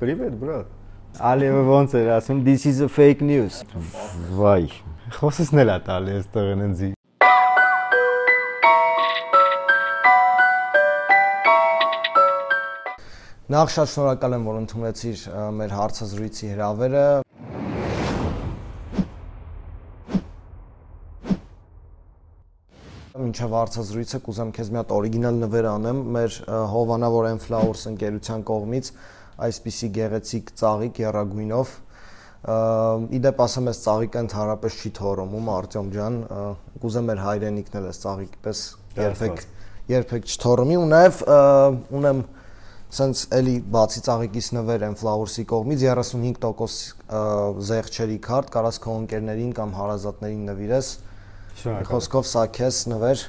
Привет, брат։ Ալիևը ոնց էր ասում, this is a fake news։ Վայ, խոսեսն էլ է տալի այստեղ ընձի։ Նախ շատ շնորհակալ եմ, որ ընդունեցիր մեր հարցազրույցի հրավերը։ Մինչև հարցազրույցը կուզեմ քեզ մի հատ օրիգինալ նվեր անեմ մեր Հովանավոր Flowers ընկերության կողմից, այսպիսի գեղեցիկ ծաղիկ եռագույնով։ Իդեպ ասեմ, այս ծաղիկը ընդհանրապես չի թորոմում, Արտյոմ ջան, կուզեմ մեր հայրենիքն էլ այս ծաղիկի պես երբեք չթորոմի, ու նաև ունեմ սենց էլի բացի ծաղիկից նվեր Flowers-ի կողմից 35% զեղչերի քարտ, կարաս քո ընկերներին կամ հարազատներին նվիրես։ Խոսքով սա քեզ նվեր։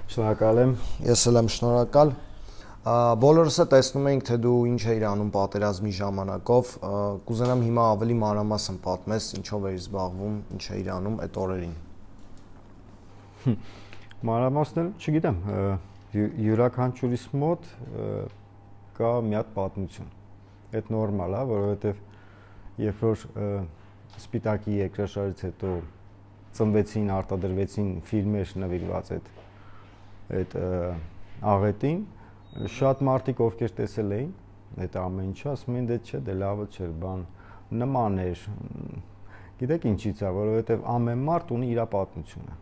Շնորհակալ եմ։ Ես էլ եմ շնորհակալ։ Բոլորս է տեսնում ենք, թե դու ինչ էիր անում պատերազմի ժամանակով, կուզենամ հիմա ավելի մանրամասն պատմես, ինչով էիր զբաղվում, ինչ էիր անում այդ օրերին։ Մանրամասն չգիտեմ, յուրաքանչյուրիս մոտ կա մի հատ պատմություն։ Այդ նորմալ է, որովհետև երբ որ Սպիտակի երկրաշարժից հետո ծնվեցին, արտադրվեցին ֆիլմեր նվիրված այդ աղետին, շատ մարդիկ ովքեր տեսել էին այդ ամեն ինչը, ասում էին դե չէ, դե լավը չէր, բան նման էր։ Գիտեք ինչից է, որովհետև ամեն մարդ ունի իր պատմությունը։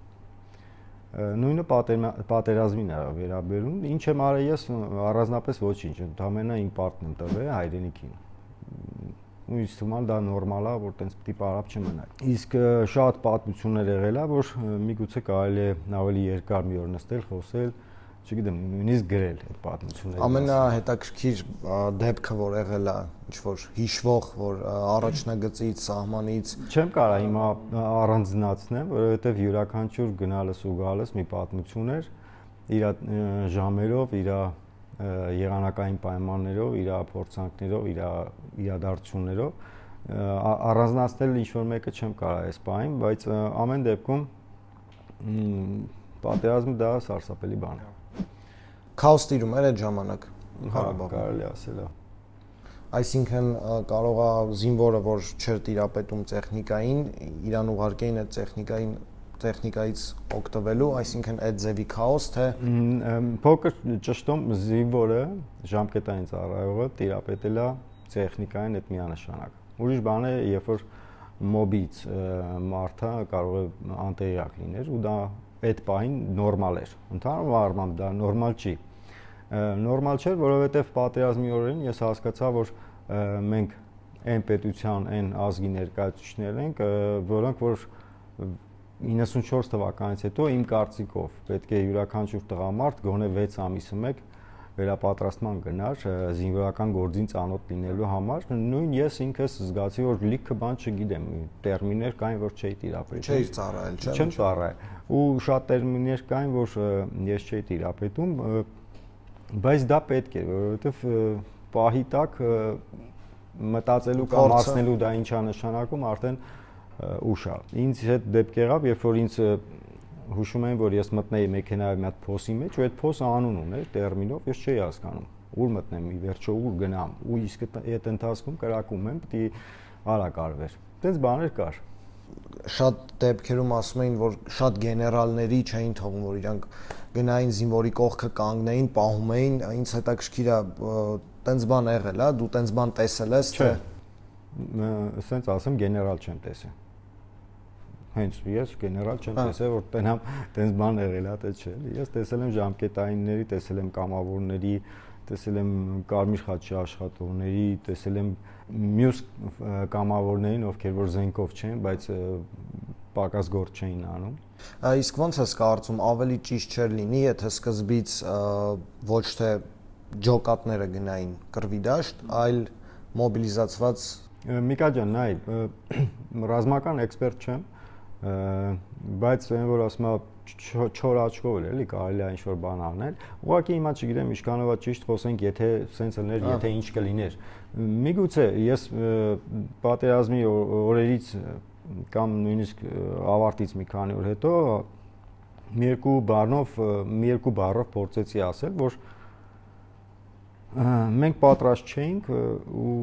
Նույնը պատերազմին է վերաբերում, ինչ եմ արել ես առանձնապես ոչինչ, ընդամենը իմ պարտն եմ տվել հայրենիքին։ Ու ինձ թվում է դա նորմալ է, որ տենց պիտի պարապ չմնա։ Իսկ շատ պատմություններ եղել է, որ միգուցե կարելի է ավելի երկար մի օր նստել, խոսել, չգիտեմ, նույնիսկ գրել այդ պատմությունները։ Ամենահետաքրքիր դեպքը, որ եղել է, ինչ որ հիշվող, որ առաջնագծից, սահմանից չեմ կարող հիմա առանձնացնեմ, որովհետև յուրաքանչյուր գնալս ու գալս մի պատմություն էր, իր ժամերով, իր եղանակային պայմաններով, իր փորձանքներով, իր իրադարձություններով առանձնացնել ինչ-որ մեկը չեմ կարող այս պահին, բայց ամեն դեպքում պատերազմը դա սարսափելի բան է։ Քաոս տիրում էր այդ ժամանակ Ղարաբաղում, կարելի ասել է։ Այսինքն կարող է զինվորը, որ չէր տիրապետում տեխնիկային, իրան ուղարկեին այդ տեխնիկայից օգտվելու, այսինքն այդ ձևի քաոս, թե փոքր ճշտում զինվորը ժամկետային ծառայողը տիրապետել է տեխնիկային այդ միանշանակ։ Ուրիշ բան է, երբ որ մոբից մարդը կարող է անտեղյակ լիներ ու դա այդ պահին նորմալ էր։ Ընդհանուր առմամբ դա նորմալ չի։ Նորմալ չէր, որովհետև պատերազմի օրերին ես հասկացա, որ մենք այն պետության, այն ազգի ներկայացուցիչներ ենք, որոնք որ 94 թվականից հետո իմ կարծիքով պետք է յուրաքանչյուր տղամարդ գոնե 6 ամիսը մեկ վերապատրաստման գնար զինվորական գործին ծանոթ լինելու համար։ Նույն ես ինքս զգացի, որ լիքը բան չգիտեմ, տերմիններ կային, որ չէի տիրապետում։ Չէի ծառայել, չէ՞։ Չեմ ծառայել։ Ու շատ տերմիններ կային, որ ես չէի տիրապետում, բայց դա պետք է, որովհետև պահի տակ մտածելու կամ ասնելու դա ինչա նշանակում արդեն ուշ է։ Ինձ հետ դեպք եղավ, երբ որ ինձ հուշում եմ, որ ես մտնեի մեքենայով մի հատ փոսի մեջ, ու այդ փոսը անուն ուներ տերմինով, ես չէի հասկանում։ Ուր մտնեմ, ի վերջո ուր գնամ, ու իսկ այդ ընթացքում կրակում եմ, պիտի արագ արվեր։ Այդպես բաներ կար։ Շատ դեպքերում ասում էին, որ շատ գեներալների չէին թողում, որ իրանք գնային զինվորի կողքը կանգնեին, պահում էին, ինձ հետաքրքիր է, տենց բան եղել է, դու տենց բան տեսել ես, թե ասենց ասեմ, գեներալ չեմ տեսել։ Հենց ես գեներալ չեմ տեսել, որ տենամ տենց բան եղել է, թե չէ։ Ես տեսել եմ ժամկետայինների, տեսել եմ կամավորների, տեսել եմ կարմիր խաչի աշխատողների, տեսել եմ մյուս կամավորներին, ովքեր որ զենքով չեն, բայց պակաս գործ չէին անում։ Իսկ ո՞նց ես կարծում, ավելի ճիշտ չէր լինի, եթե սկզբից ոչ թե ջոկատները գնային կռվի դաշտ, այլ մոբիլիզացված։ Միկա ջան, նայ, ռազմական էքսպերտ չեմ, բայց այն որ ասում եմ չոր աչքով էլ էլի կարելի է ինչ-որ բան անել։ Ուղղակի հիմա չգիտեմ ինչքանով է ճիշտ խոսենք, եթե սենց լներ, եթե ինչ կլիներ։ Միգուցե ես պատերազմի օրերից կամ նույնիսկ ավարտից մի քանի օր հետո մի երկու բառով փորձեցի ասել, որ մենք պատրաստ չէինք ու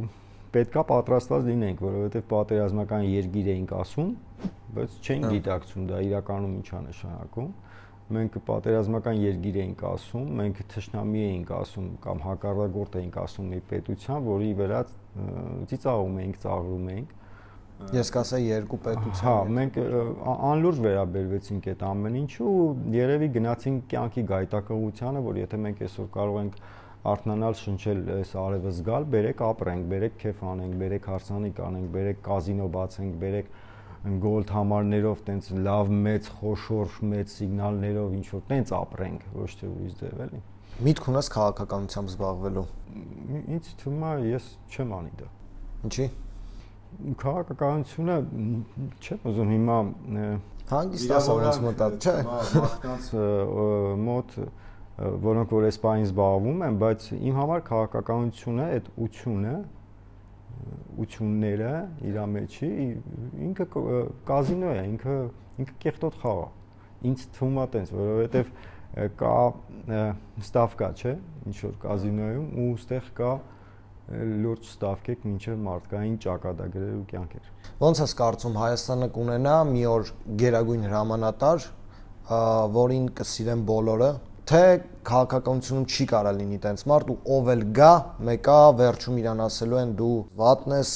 պետքա պատրաստված լինենք, որովհետև պատերազմական երկիր էինք ասում, բայց չենք գիտակցում դա իրականում ինչ է նշանակում։ Մենք պատերազմական երկիր էինք ասում, մենք թշնամի էինք ասում կամ հակառակորդ էինք ասում մի պետության, որի վրա ծիծաղում էինք, ծաղրում էինք։ Ես կասեի երկու պետության։ Հա, մենք անլուրջ վերաբերվեցինք այդ ամեն ինչու ու երևի գնացինք կյանքի գայթակղությանը, որ եթե մենք այսօր կարող ենք արթնանալ, շնչել այս արևը զգալ, բերեք ապրենք, բերեք քեֆ անենք, բերեք հարսանիք անենք, բերեք կազինո բացենք, բերեք գոլդ համարներով տենց լավ մեծ խոշոր մեծ սիգնալներով ինչ որ տենց ապրենք, ոչ թե ուրիշ ձև էլի։ Միտք ունես քաղաքականությամբ զբաղվելու։ Ինձ թվում է ես չեմ անի դա։ Ինչի՞։ Քաղաքականությունը չեմ ուզում հիմա հանգիստ ասած մտած, չէ։ Մարդկանց մոտ որոնք որ այս բանին զբաղվում են, բայց իմ համար քաղաքականությունը այդ ուությունները իր մեջի ինքը կազինո է, ինքը կեղտոտ խաղ է։ Ինձ թվում է տենց, որովհետև կա ստավկա, չէ, ինչ որ կազինոյում ու ստեղ կա լուրջ ստավկեք մինչև մարդկային ճակատագրերու կյանքեր։ Ոնց ես կարծում Հայաստանը կունենա մի օր գերագույն հրամանատար, որին կսիրեն բոլորը, թե քաղաքականությունում չի կարա լինի տենց մարդ ու ով էլ գա, մեկա վերջում իրան ասելու են դու վատն ես։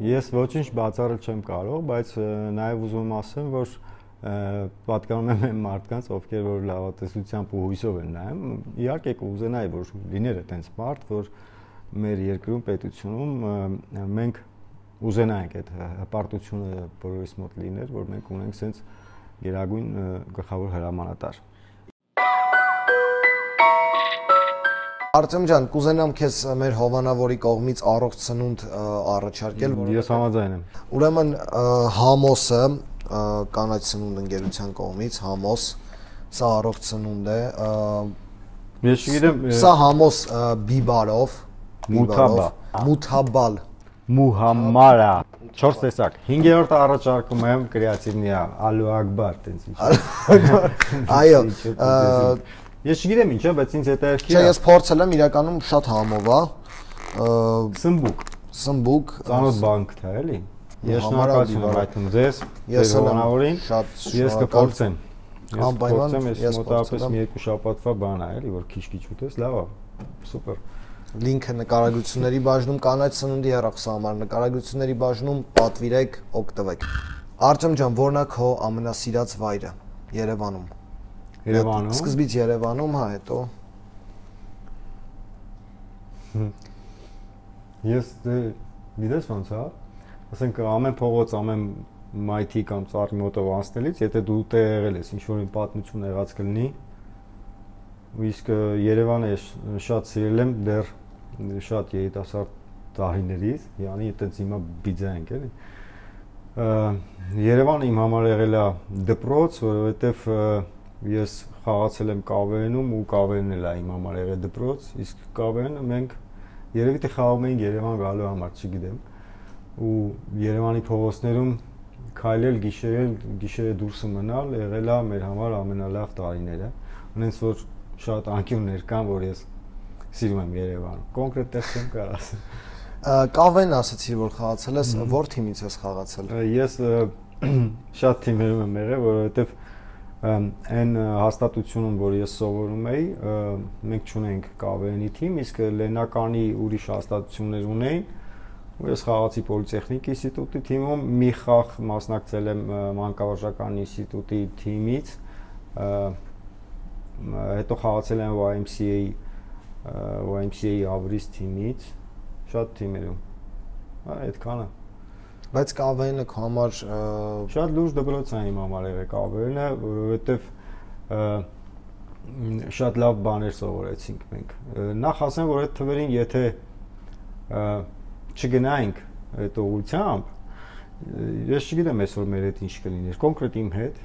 Ես ոչինչ բացառել չեմ կարող, բայց նաև ուզում եմ ասեմ, որ պատկանում եմ այն մարդկանց, ովքեր որ լավատեսությամբ ու հույսով են նայում, իհարկե կուզենայի, որ լիներ այդպես մարդ, որ մեր երկրում պետությունում մենք ուզենայինք այդ հպարտությունը բոլորիս մոտ լիներ, որ մենք ունենք sense գերագույն գլխավոր հրամանատար։ Արտեմ ջան, կուզենամ քեզ մեր հովանավորի կողմից առողջ ծնունդ առաջարկել, Ես համաձայն եմ։ Ուրեմն Համոսը կանաչ ծնունդ ընկերության կողմից Համոս, սա առողջ ծնունդ է։ Ես չգիտեմ, սա Համոս բիբարով, Մութաբալ, Մուհամմարա, 4 տեսակ։ 5-րդ առաջարկում եմ կրեատիվնիա, Ալու Ակբար, տենց ինչ։ Այո, Ես չգիտեմ ինչ է, բայց ինձ հետաքրքիր է։ Չէ, ես փորձել եմ, իրականում շատ համով է։ Սմբուկ, ծանոթ բանկ թե էլի։ Ես շնորհակալություն եմ հայտնում ձեզ, ձեր հովանավորին։ Ես կփորձեմ։ Ես մոտավորապես մի երկու շաբաթվա բան է էլի, որ քիչ-քիչ ուտես, լավ է։ Սուպեր։ Լինքը նկարագրությունների բաժնում կանաչ ծնունդի հեռախոսահամար, նկարագրությունների բաժնում պատվիրեք, օգտվեք։ Արտեմ ջան, որն է քո ամենասիրած վայրը Երևանում։ Երևանում։ Սկզբից Երևանում, հա, հետո։ Ես գիտես ոնց է, ասենք ամեն փողոց, ամեն մայթի կամ ծառի մոտով անցնելից, եթե դու տեղ եղել ես, ինչ որ պատմություն եղած կլինի, իսկ Երևանը ես շատ սիրել եմ դեռ շատ երիտասարդ տարիներից, yani այտենց հիմա բիձա ենք էլի։ Երևանը իմ համար եղել է դպրոց, որովհետև ես խաղացել եմ Կավերենում ու Կավերենն էլ է իմ համար եղել դպրոց, իսկ Կավերենը մենք երևի թե խաղում էինք Երևան գալու համար, չգիտեմ։ Ու Երևանի փողոցներում քայլել, գիշերը դուրս մնալ եղել է մեր համար ամենալավ տարիները։ Ունենց որ շատ անկյուններ կան, որ ես սիրում եմ Երևանը։ Կոնկրետ տեղ չեմ կարող ասել։ Կավեն ասացի, որ խաղացել ես, որ թիմից ես խաղացել։ Ես շատ թիմերում եմ եղել, որովհետև այն հաստատությունում, որ ես սովորում էի, մենք չունենք Կավերենի թիմ, իսկ Լենականի ուրիշ հաստատություններ ունեին, ու ես խաղացի Պոլիտեխնիկ ինստիտուտի թիմում, մի խաղ մասնակցել եմ Մանկավարժական ինստիտուտի թիմից, հետո խաղացել եմ YMCA Ավրիս թիմից, շատ թիմերում, այդքանը։ Բայց Կավերենը քո համար շատ լուրջ դպրոց է իմ համար եղել Կավերենը, որովհետև շատ լավ բաներ սովորեցինք մենք։ Նախ ասեմ, որ այդ թվերին եթե չգնայինք այդ ուղղությամբ, ես չգիտեմ այսօր մեր հետ ինչ կլիներ, կոնկրետ իմ հետ,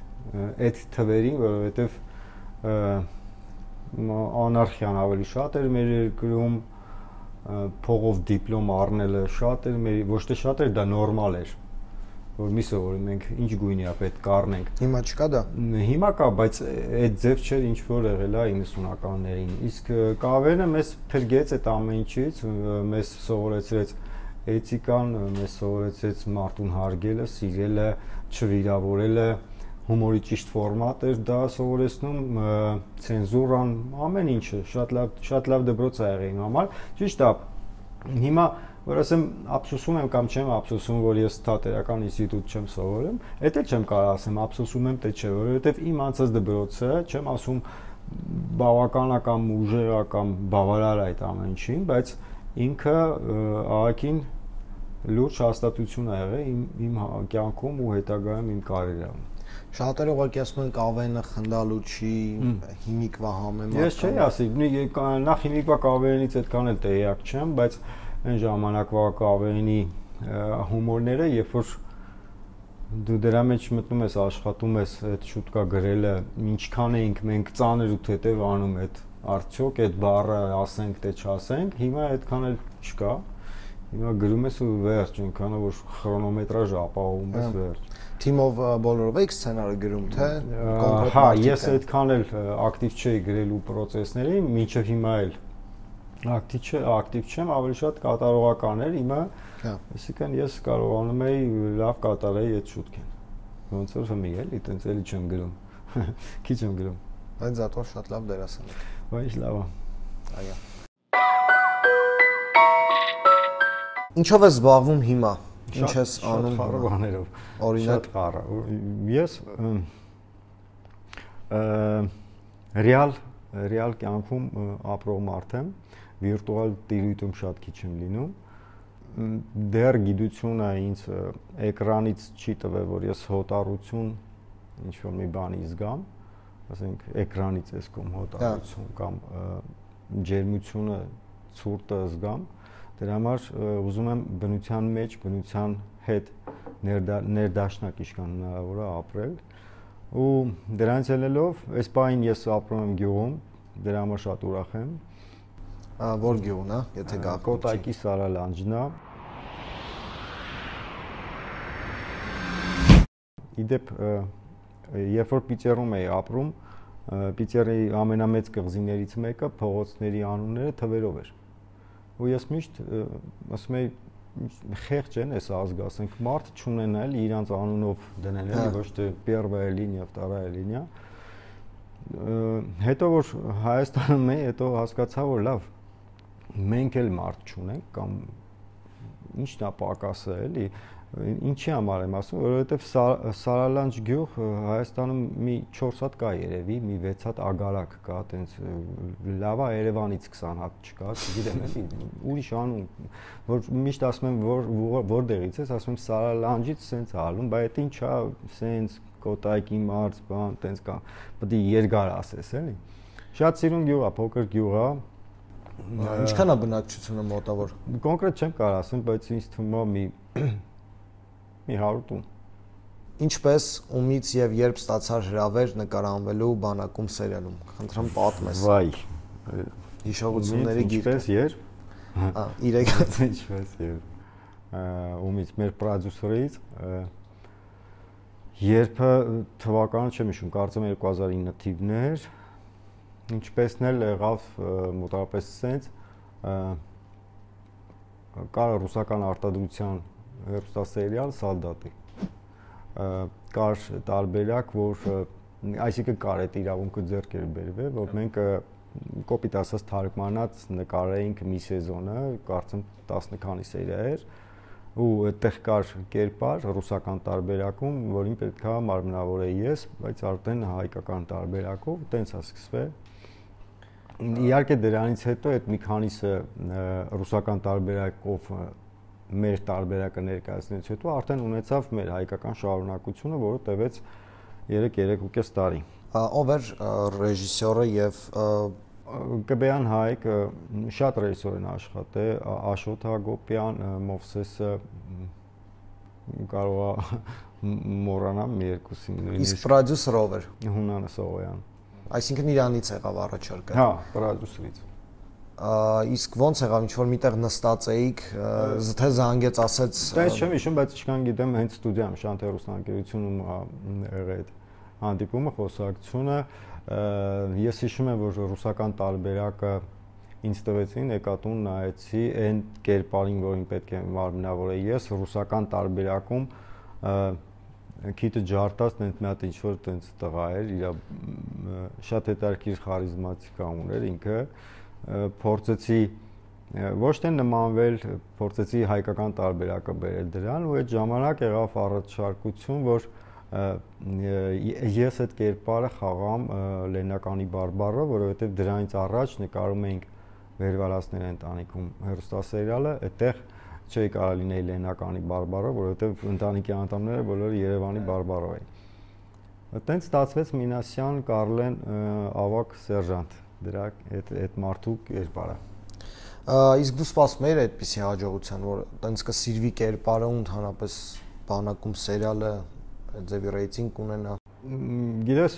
այդ թվերին, որովհետև անարխիան ավելի շատ էր մեր երկրում, փողով դիպլոմ առնելը շատ էր, ոչ թե շատ էր, դա նորմալ էր, որ մի սովորի մենք ինչ գույնի է պետք կառնենք։ Հիմա չկա դա։ Հիմա կա, բայց այդ ձև չէր ինչ որ եղել է 90-ականներին։ Իսկ Կավերենը մեզ փրկեց այդ ամեն ինչից, մեզ սովորեցրեց էթիկան մեզ սովորեցեց մարդուն հարգելը, սիրելը, չվիրավորելը, հումորի ճիշտ ֆորմատ էր դա սովորեցնում, ցենզուրան, ամեն ինչը շատ լավ դպրոց ա եղել իմ համար։ Ճիշտ է, հիմա որ ասեմ ափսոսում եմ կամ չեմ ափսոսում, որ ես թատերական ինստիտուտ չեմ սովորում, դա էլ չեմ կարող ասեմ ափսոսում եմ, թե չէ, որովհետև իմ անցած դպրոցը, չեմ ասում բավականական ուժեղ կամ բավարար այդ ամեն ինչին, բայց ինքը աղաքին լուրջ հաստատություն ա եղել իմ կյանքում ու հետագայում իմ կարիերայում։ Շատերը ուղղակի ասում են կավենը խնդալու չի, հիմիկվա համեմատ։ Ես չէի ասի, նախ հիմիկվա կավենից այդքան էլ տեղյակ չեմ, բայց այն ժամանակվա կավենի հումորները, երբ որ դու դրա մեջ մտնում ես, աշխատում ես այդ շուտկա գրելը, ինչքան էինք մենք ծանր ու թեթև անում այդ արդյոք այդ բառը ասենք թե չասենք, հիմա այդքան էլ չկա։ Հիմա գրում ես ու վերջ, այնքան որ քրոնոմետրաժ ապահովում ես վերջ։ Թիմով բոլորով եք սցենարը գրում, թե կոնկրետ։ Հա, ես այդքան էլ ակտիվ չէի գրելու process-ների, մինչև հիմա էլ ակտիվ չեմ, ավելի շատ կատարողական էր հիմա, այսինքն ես կարողանում էի լավ կատարեի այդ շուտքին։ Ոնց որ հիմա էլի, տենց էլի չեմ գրում։ Քիչ եմ գրում։ Բայց զատո շատ լավ դերասան եք։ Բայց լավ է։ Այո։ Ինչով ես զբաղվում հիմա։ Ինչ ես անում խառը բաներով։ Օրինակ խառը։ Ես ռեալ կյանքում ապրող մարդ եմ, վիրտուալ տիրույթում շատ քիչ եմ լինում։ Դեռ գիտությունը ինձ էկրանից չի տվել, որ ես հոտառություն ինչ-որ մի բանի զգամ, ասենք էկրանից ես կողմ հոտառություն կամ ջերմությունը, ցուրտը զգամ։ Դրա համար ուզում եմ բնության մեջ, բնության հետ ներդաշնակ իշքան հնարավոր է ապրել ու դրանից ելնելով այս պահին ես ապրում եմ գյուղում, դրա համար շատ ուրախ եմ։ Որ գյուղն է, եթե գաղտնի։ Կոտայքի Սարալանջն է։ Իդեպ երբ որ Պիտերում էի ապրում, Պիտերի ամենամեծ կղզիներից մեկը փողոցների անունները թվերով էր։ Ու ես միշտ ասում եի խեղճ են այս ազգը, ասենք մարդ չունենալ իրանց անունով դնել, էլի ոչ թե первая линия, вторая линия։ Հետո որ Հայաստանում էի, հետո հասկացա, որ լավ, մենք էլ մարդ չունենք կամ ինչն է պակասը, էլի, ինչի համար եմ ասում, որովհետև Սարալանջ գյուղ Հայաստանում մի 4 հատ կա երևի, մի 6 հատ ագարակ կա, տենց լավա Երևանից 20 հատ չկա, չգիտեմ, էլի, ուրիշ անուն, որ միշտ ասում եմ, որտեղից ես, ասում եմ Սարալանջից սենց ալում, բայց դա ինչ է, սենց Կոտայքի մարզ, բան, տենց կա, պետք է երկար ասես, էլի։ Շատ սիրուն գյուղ է, փոքր գյուղ է։ Ինչքան է բնակչությունը մոտավոր։ Կոնկրետ չեմ կարող ասեմ, բայց ինձ թվում է մի 100 տուն։ Ինչպես, ումից եւ երբ ստացար հրավեր նկարանվելու բանակում սերիալում։ Խնդրեմ պատմես։ Վայ։ Հիշողությունների գիրք։ Ինչպես երբ։ Ինչպես երբ։ Ումից մեր պրոդյուսերից երբ թվականը չեմ հիշում, կարծեմ 2009 թիվն էր։ Ինչպեսն էլ եղավ մոտավորապես սենց կար ռուսական արտադրության հեռուստասերիալ Սալդատի։ Կար տարբերակ, որ այսինքն կար այդ իրավունքը ձեռք էր բերվել, որ մենք կոպիտ ասած թարգմանած նկարեինք մի սեզոնը, կարծեմ 10 քանի սերիա էր, ու այդտեղ կար կերպար ռուսական տարբերակում, որին պետքա մարմնավորեի ես, բայց արդեն հայկական տարբերակով տենց է սկսվել։ Իհարկե դրանից հետո այդ մի քանիսը ռուսական տարբերակով մեր տարբերակը ներկայացնելուց հետո արդեն ունեցավ մեր հայկական շարունակությունը, որը տևեց 3.5 տարի։ Ով էր ռեժիսորը եւ Կբեյան Հայկ շատ ռեժիսոր են աշխատել, Աշոտ Հակոբյան, Մովսեսը կարող է մոռանամ մի երկուսին նույնիսկ։ Իսկ պրոդյուսերը ով էր։ Հունանը Սողոյան։ Այսինքն իրանից եղավ առաջարկը։ Հա, պրոդյուսերից։ Իսկ ոնց եղավ, ինչ որ միտեղ նստած էիք, թե զանգեց, ասեց։ Դες չեմ հիշում, բայց ինչքան գիտեմ, հենց ստուդիայում Շանթ հեռուստաընկերությունում եղել այդ հանդիպումը, խոսակցությունը։ Ես հիշում եմ, որ ռուսական տարբերակը ինձ տվեցին, եկատուն նայեցի այն կերպարին, որին պետք է մարմնավորեի ես, ռուսական տարբերակում քիթը ջարտած տենց մի հատ ինչ-որ տենց տղա էր, իր շատ հետաքրքիր խարիզմատիկա ուներ ինքը, փորձեցի ոչ թե նմանվել, փորձեցի հայկական տարբերակը բերել դրան ու այդ ժամանակ եղավ առաջարկություն, որ ես այդ կերպարը խաղամ Լեննականի բարբառը, որովհետև դրանից առաջ նկարում էինք Վերվալասների ընտանիքում հեռուստասերիալը, այդտեղ չէի կարող լինեի Լեննականի բարբառը, որովհետև ընտանիքի անդամները բոլորը Երևանի բարբառով էին։ Այդտենց ստացվեց Մինասյան Կարլեն ավակ սերժանտ, դրա այդ մարդու կերպարը։ Իսկ դու սպասում էիր այդպիսի հաջողության, որ տենց կսիրվի կերպարը ու ընդհանրապես բանակում սերիալը ձևի ռեյտինգ ունենա։ Գիտես,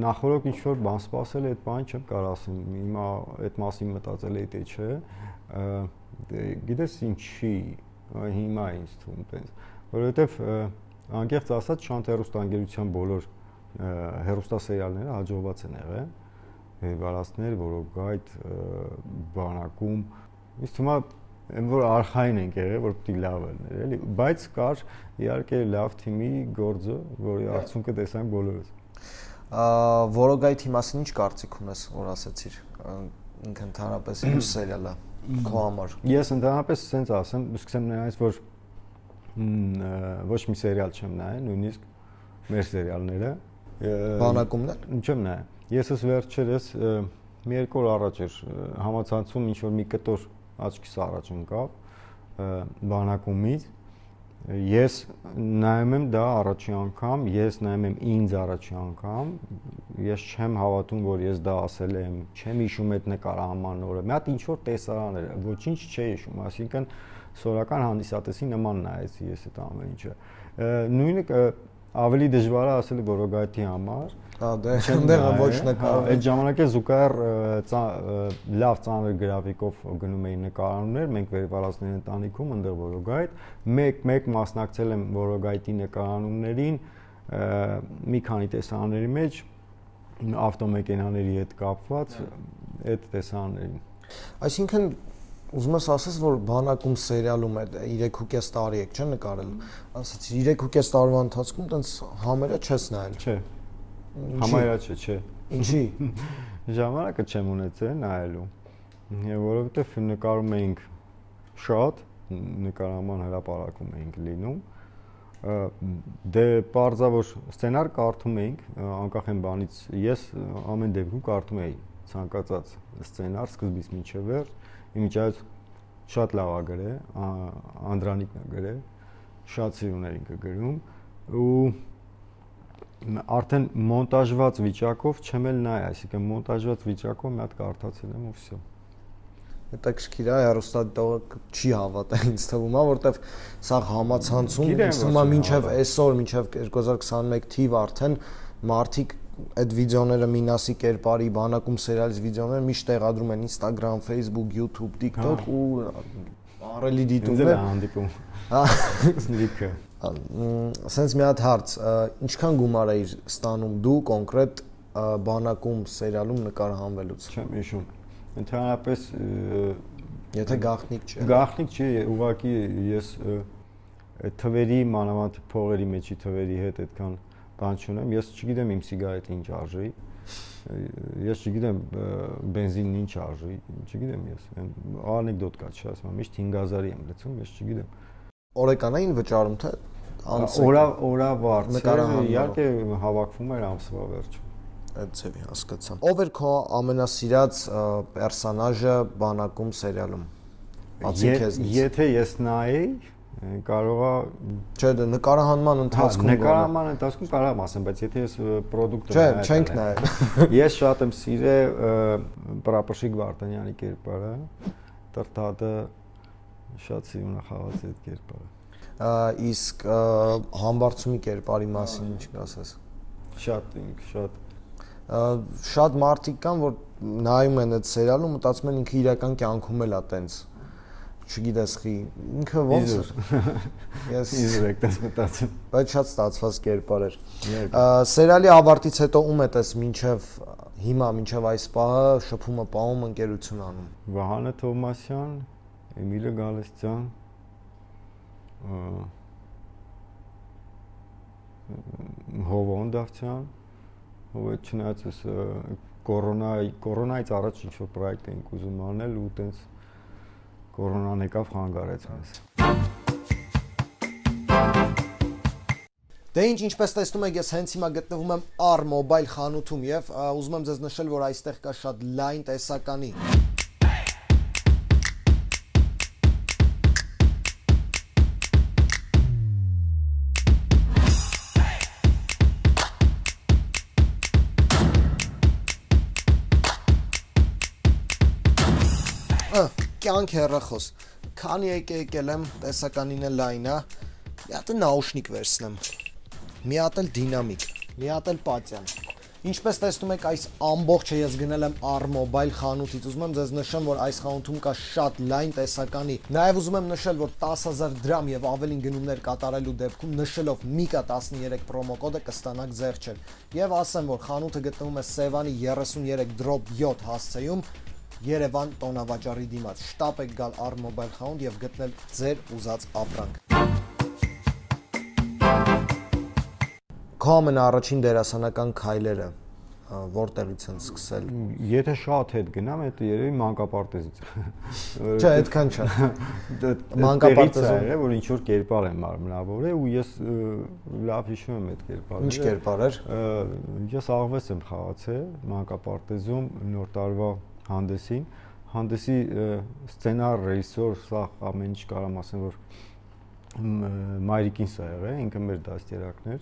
նախորդ ինչ-որ բան սպասել այդ բան չեմ կարող ասեմ, հիմա այդ մասին մտածել էի թե չէ, գիտես ինչի, հիմա ինձ թվում տենց, որովհետև անկեղծ ասած Շանթ հեռուստաընկերության բոլոր հեռուստասերիալները հաջողված են եղել, Վերվալասներ, Որոգայթ, բանակում, ինձ թվում է Այն որ արխային ենք եղել, որ պիտի լավ լիներ, էլի, բայց կար իհարկե լավ թիմի գործը, որի արդյունքը տեսանք բոլորս։ Որոգայթի մասին ինչ կարծիք ունես, որ ասացիր, ինքը ընդհանրապես ինչ սերիալ է քո համար։ Ես ընդհանրապես ասենց ասեմ, սկսեմ նրանից, որ ոչ մի սերիալ չեմ նայել, նույնիսկ մեր սերիալները։ Բանակումն էլ։ Չեմ նայել։ Ես վերջերս մի երկու օր առաջ էր համացանցում ինչ որ մի կտոր աչքիս առաջ ընկավ բանակումից ես նայում եմ դա առաջի անգամ ես նայում եմ ինձ առաջի անգամ ես չեմ հավատում որ ես դա ասել եմ չեմ հիշում այդ նկարահանման օրը մի հատ ինչ որ տեսարան էր ոչինչ չէի հիշում այսինքն սորական հանդիսատեսի նման նայեցի ես այդ ամեն ինչը նույնը ավելի դժվար է ասել Որոգայթի համար դե այնտեղը ոչ նկարում այդ ժամանակ է զուգահեռ լավ ծանր գրաֆիկով գնում էին նկարաններ մենք Վերվալասների ընտանիքում այնտեղ Որոգայթ մեկ մասնակցել եմ Որոգայթի նկարանումներին մի քանի տեսարանների մեջ ավտոմեքենաների հետ կապված այդ տեսարաններին այսինքն ուզում ես ասես որ բանակում սերիալում է 3.5 տարի եք չէ նկարել ասացի 3.5 տարվա ընթացքում տենց համերը չես նայել չէ համարյա չէ ինչի ժամանակը չեմ ունեցել նայելու որովհետև նկարում էինք շատ նկարահանման հրապարակում էինք լինում դե պարզա որ սցենար կարդում էինք անկախ այն բանից ես ամեն դեպքում կարդում էի ցանկացած սցենար սկզբից մինչև վերջ իմիջիայից շատ լավ է գրել Անդրանիկն է գրել շատ սիրուն էր ինքը գրում ու արդեն մոնտաժված վիճակով չեմ էլ նայ, այսինքն մոնտաժված վիճակով մի հատ կարդացել եմ ու վсё։ Հետաքրքիր է, հեռուստադիտողը չի հավատա ինձ թվում է, որովհետև սա համացանցում ինձ թվում է մինչև այսօր, մինչև 2021 թիվ արդեն մարդիկ այդ վիդեոները Մինասի կերպարի բանակում սերիալից վիդեոները միշտ տեղադրում են Instagram, Facebook, YouTube, TikTok ու առելի դիտում է հանդիպում։ Լիքը Սենց մի հատ հարց, ինչքան գումար էիր ստանում դու կոնկրետ բանակում սերիալում նկարահանվելուց։ Չեմ հիշում։ Ընդհանրապես եթե գաղտնիք չէ։ Գաղտնիք չի, ուղղակի ես այդ թվերի մանավանդ փողերի մեջի թվերի հետ այդքան բան չունեմ, ես չգիտեմ իմ սիգարետը ինչ արժի, ես չգիտեմ բենզինն ինչ արժի, չգիտեմ ես, անեկդոտ կա չասեմ, միշտ 5000-ի եմ լցում, ես չգիտեմ։ Օրեկանային վճարում թե օրավարձ, իհարկե հավաքվում էր ամսվա վերջում։ Այդ ձևի հասկացա։ Ով էր քո ամենասիրած պերսոնաժը բանակում սերիալում։ Բացի քեզնից։ Եթե ես նայեի կարողա չէ նկարահանման ընթացքում նկարահանման ընթացքում կարող եմ ասեմ բայց եթե ես պրոդուկտը չէ չենք նայել ես շատ եմ սիրել Պրապորշիկ Վարդանյանի կերպարը Տրտադը շատ սիրուն է խաղաց այդ կերպարը իսկ Համբարձումի կերպարի մասին ինչ կասես շատ մարդիկ կան որ նայում են այդ սերիալը մտածում են ինքը իրական կյանքում էլ է տենց չգիտես խի ինքը ոնց ես իզրեք դες մտածում բայց շատ ստացված կերպար էր սերիալի ավարտից հետո ում է տես մինչև հիմա մինչև այս պահը շփումը պահում ընկերություն անում։ Վահանը Թովմասյան, Էմիլը Գալստյան, Հովոն Դավթյան, ով չնայած էս կորոնայից առաջ ինչ-որ պրոյեկտ էինք ուզում անել ու տենց կորոնան եկավ խանգարեց մեզ։ Դե ինչպես տեսնում եք, ես հենց հիմա գտնվում եմ R-Mobile խանութում եւ ուզում եմ ձեզ նշել, որ այստեղ կա շատ լայն տեսականի։ Կյանք հեռախոս։ Քանի եկել եմ, տեսականին է լայն է։ Մի հատ նաուշնիկ վերցնեմ։ Մի հատ էլ դինամիկ, մի հատ էլ պատյան։ Ինչպես տեսնում եք, այս ամբողջը ես գնել եմ R-Mobile խանութից։ Ուզում եմ ձեզ նշեմ, որ այս խանութում կա շատ լայն տեսականի։ Նաև ուզում եմ նշել, որ 10000 դրամ եւ ավելին գնումներ կատարելու դեպքում նշելով MIKA13 պրոմո կոդը կստանաք զեղչել։ Եվ ասեմ, որ խանութը գտնվում է Սևանի 33/7 հասցեում Երևան տոնավաճառի դիմաց։ Շտապ եք գալ R-Mobile խանութ եւ գտնել ձեր ուզած ապրանք։ Քո ամենաառաջին դերասանական քայլերը որտեղից են սկսել։ Եթե շատ հետ գնամ, դա երևի մանկապարտեզից։ Չէ, այդքան չէ։ Մանկապարտեզում է, որ ինչ որ կերպար եմ մարմնավորել ու ես լավ հիշում եմ այդ կերպարը։ Ինչ կերպար էր։ Ես աղվես եմ խաղացել մանկապարտեզում նոր տարվա հանդեսին, հանդեսի սցենար, ռեժիսոր, սա ամեն ինչ կարամ ասեմ, որ Մայրիկին սա եղել, ինքը մեր դաստիարակներ,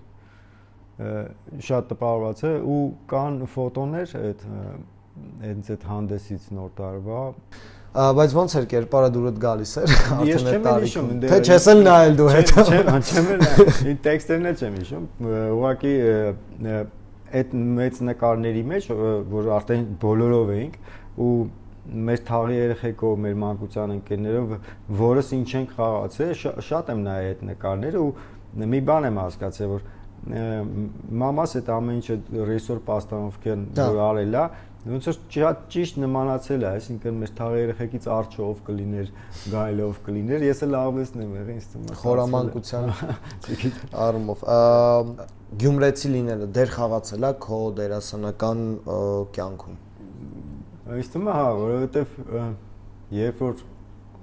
շատ տպավորված է ու կան ֆոտոներ այդ հանդեսից նոր տարվա, բայց ոնց էր կերպարը դուրդ գալիս էր, ես չեմ հիշում, թե չես էլ նայել դու հետո։ Չեմ էլ, տեքստերն էլ չեմ հիշում, ուղղակի այդ մեծ նկարների մեջ, որ արդեն բոլորով էինք ու մեր թաղի երեխեքով, մեր մանկության ընկերներով, որս ինչ ենք խաղացել, շատ եմ նայել այդ նկարները ու մի բան եմ հասկացել, որ մամաս այդ ամեն ինչը ռեժիսոր Պաստանովկյան որ արել է, ոնց որ ճիշտ նմանացել է, այսինքն մեր թաղի երեխեքից արջով կլիներ, գայլով կլիներ, ես էլ աղվեսն եմ եղել, ինձ թվում է խորամանկության առումով։ Գյումրեցի լինելը դեր խաղացել է քո դերասանական կյանքում։ Ինձ թվում է, հա, որովհետև երբ որ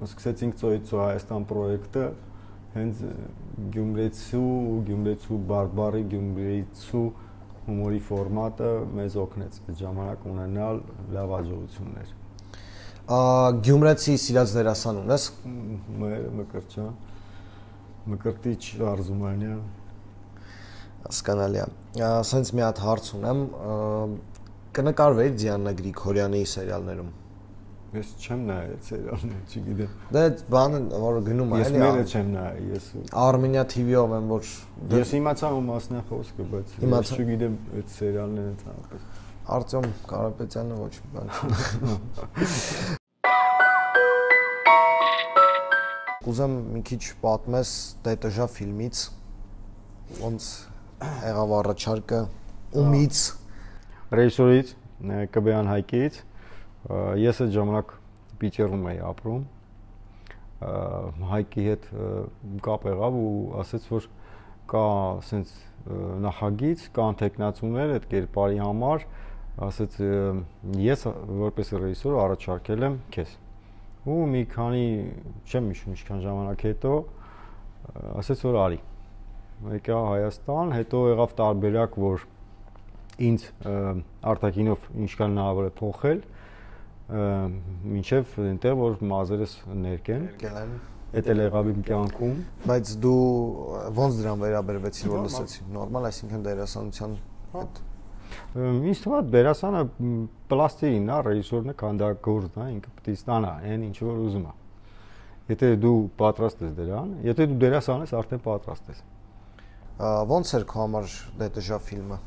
սկսեցինք Ծոյից Հայաստան պրոյեկտը, հենց Գյումրեցու բարբարի Գյումրեցու հումորի ֆորմատը մեզ օգնեց այդ ժամանակ ունենալ լավ հաջողություններ։ Գյումրեցի սիրած դերասան ունես։ Մկրտչյան, Մկրտիչ Արզումանյան։ Հասկանալի է։ Ասենց մի հատ հարց ունեմ, կնկարվեի Դիանա Գրիգորյանի սերիալներում։ Ես չեմ նայել սերիալներ, չգիտեմ։ Դա բանը, որ գնում է, էլի։ Ես մերը չեմ նայել, ես Armenia TV-ով եմ, որ ես իմացա ու մասն է խոսքը, բայց ես չգիտեմ այդ սերիալները ցանկապես։ Արտյոմ Կարապետյանը ոչ մի բան։ Կուզեմ մի քիչ պատմես ՏՏԺ ֆիլմից, ոնց եղավ առաջարկը, ումից, ռեժիսորից, Կբեյան Հայկից, ես այդ ժամանակ Պիտերում էի ապրում, Հայկի հետ կապ եղավ ու ասեց, որ կա սենց նախագիծ, կան թեկնածուներ այդ կերպարի համար, ասեց ես որպես ռեժիսոր առաջարկել եմ քեզ։ Ու մի քանի, չեմ հիշում ինչքան ժամանակ հետո, ասեց որ արի։ Եկա Հայաստան, հետո եղավ տարբերակ, որ ինձ արտաքինով ինչքան հնարավոր է փոխել, մինչև այնտեղ որ մազերս ներկեն։ Այդ էլ եղավ իմ կյանքում։ Բայց դու ոնց դրան վերաբերվեցիր, որ լսեցի։ Նորմալ, այսինքն դերասանության հետ։ Ինձ թվում է դերասանը պլաստիկին է, ռեժիսորն է, քանդագործն է, ինքը պետք է ստանա այն ինչ որ ուզում է։ Եթե դու պատրաստ ես դրան, եթե դու դերասան ես, արդեն պատրաստ ես։ Ոնց էր քո համար ՏՏԺ ֆիլմը։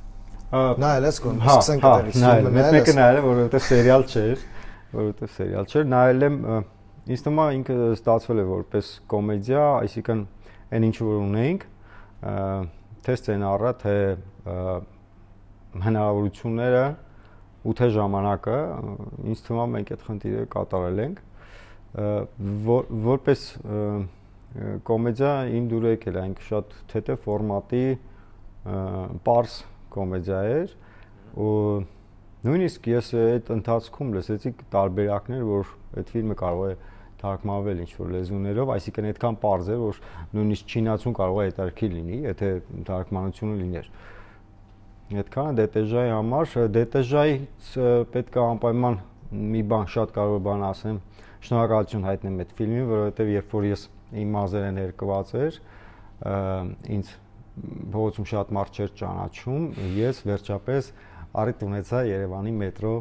Նայել ես կոն, սկսենք այդտեղից։ Նայել, մեկը նայել եմ, որովհետև սերիալ չէր, նայել եմ, ինձ թվում է ինքը ստացվել է որպես կոմեդիա, այսինքն այն ինչ որ ունեինք, թե սցենարը, թե հնարավորությունները 8 ժամանակը ինձ թվում է մենք այդ խնդիրը կատարել ենք որպես կոմեդիա իմ դուր եկել այն շատ թեթև ֆորմատի պարզ կոմեդիա էր ու նույնիսկ ես այդ ընթացքում լսեցի տարբերակներ որ այդ ֆիլմը կարող է թարգմանվել ինչ-որ լեզուներով, այսինքն այդքան պարզ է, որ նույնիսկ չինացուն կարող է հետաքրքիր լինի, եթե թարգմանությունը լիներ։ Այդքանը DTJ-ի համար, DTJ-ից պետք է անպայման մի բան շատ կարևոր բան ասեմ, շնորհակալություն հայտնեմ այդ ֆիլմին, որովհետև երբ որ ես իմ մազերը ներկված էր, ինձ փողոցում շատ մարդ չէր ճանաչում, ես վերջապես առիթ ունեցա Երևանի մետրո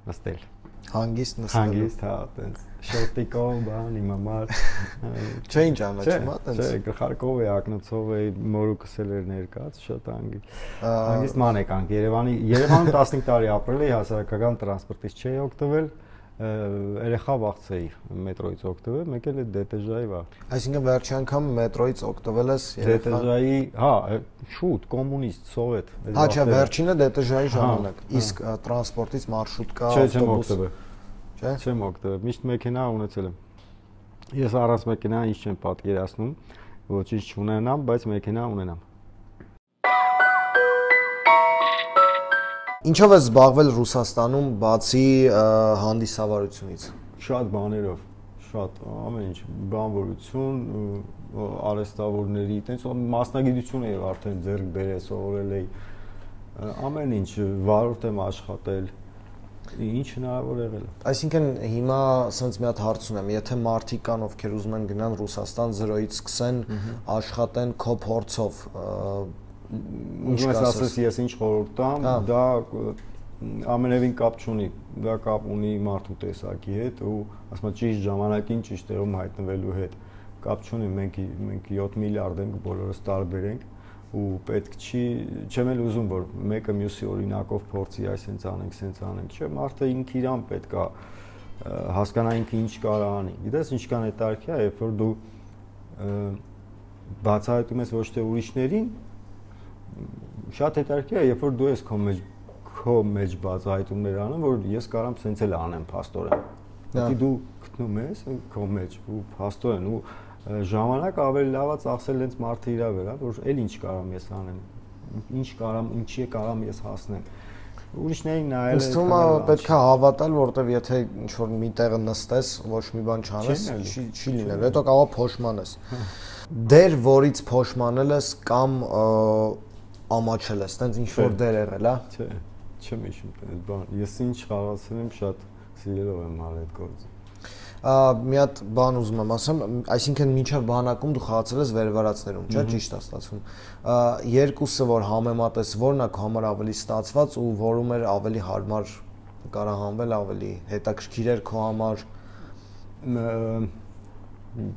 նստել։ Հանգիստ նստել։ Հանգիստ, հա, տենց շորտիկով, բան, իմ համար։ Չէին ճանաչում, հա, տենց։ Չէ, գլխարկով է, ակնոցով է, մորուքս էլ էր ներկած, շատ հանգիստ ման եկանք Երևանում 15 տարի ապրել էի, հասարակական տրանսպորտից չէի օգտվել, երեխա վախցեի մետրոյից օգտվել, մեկ էլ է DTJ-ի վաղ։ Այսինքն վերջի անգամ մետրոյից օգտվել ես DTJ-ի, հա, շուտ, կոմունիստ, սովետ։ Հա, չէ, վերջինը DTJ-ի ժամանակ, իսկ տրանսպորտից մարշրուտկա, ավտոբուս։ Չէ, չեմ օգտվել, միշտ մեքենա ունեցել եմ։ Ես առանց մեքենա ինչ չեմ պատկերացնում, ոչինչ չունենամ, բայց մեքենա ունենամ։ Ինչով ես զբաղվել Ռուսաստանում բացի հանդիսավարությունից։ Շատ բաներով, շատ ամեն ինչ, բանվորություն, արհեստավորների, տենց մասնագիտություն էի արդեն ձեռք բերել, սովորել էի, ամեն ինչ, վարորդ եմ աշխատել, ինչ հնարավոր եղել է։ Այսինքն հիմա ասենց մի հատ հարց ունեմ, եթե մարդիկ կան, ովքեր ուզում են գնան Ռուսաստան 0-ից սկսեն աշխատեն քո փորձով, Ուզում ես ասես ես ինչ խորհուրդ տամ, դա ամենևին կապ չունի, դա կապ ունի մարդու տեսակի հետ ու ասում եմ ճիշտ ժամանակին ճիշտ տեղում հայտնվելու հետ։ Կապ չունի, մենք 7 միլիարդ ենք, բոլորս տարբեր ենք ու պետք չի, չեմ էլ ուզում որ մեկը մյուսի օրինակով փորձի այս հենց անենք, չէ, մարդը ինքը իրան պետք է հասկանա ինքը ինչ կարող անի։ Գիտես ինչքան հետաքրքիր է, երբ որ դու բացահայտում ես ոչ թե ուրիշներին շատ հետաքրքիր է, երբ որ դու ես քո մեջ բացահայտումներ անում, որ ես կարամ սենց էլ անեմ փաստորեն։ Դու դու գտնում ես քո մեջ ու փաստորեն ու ժամանակ ավելի լավ է ծախսել հենց մարդը իրա վրա, որ էլ ինչ կարամ ես անեմ, ինչ կարամ, ինչի կարամ ես հասնեմ։ Ուրիշներին նայել Ինձ թվում է պետք է հավատալ, որովհետև եթե ինչ-որ մի տեղը նստես, ոչ մի բան չանես, չի լինելու, հետո կարող փոշմանես։ Դեր, որից փոշմանել ես կամ ամաչել ես, տենց ինչ-որ դեր եղել, հա։ Չէ, չեմ հիշում այդ բան։ Ես ինչ խաղացել եմ, շատ սիրելով եմ արել այդ գործը։ Մի հատ բան ուզում եմ ասեմ, այսինքն մինչև բանակում դու խաղացել ես վերվարածներում, չէ՞, ճիշտ է ստացվում։ Երկուսը որ համեմատես, որն է քո համար ավելի ստացված ու որում էր ավելի հարմար կարահանվել, ավելի հետաքրքիր էր քո համար։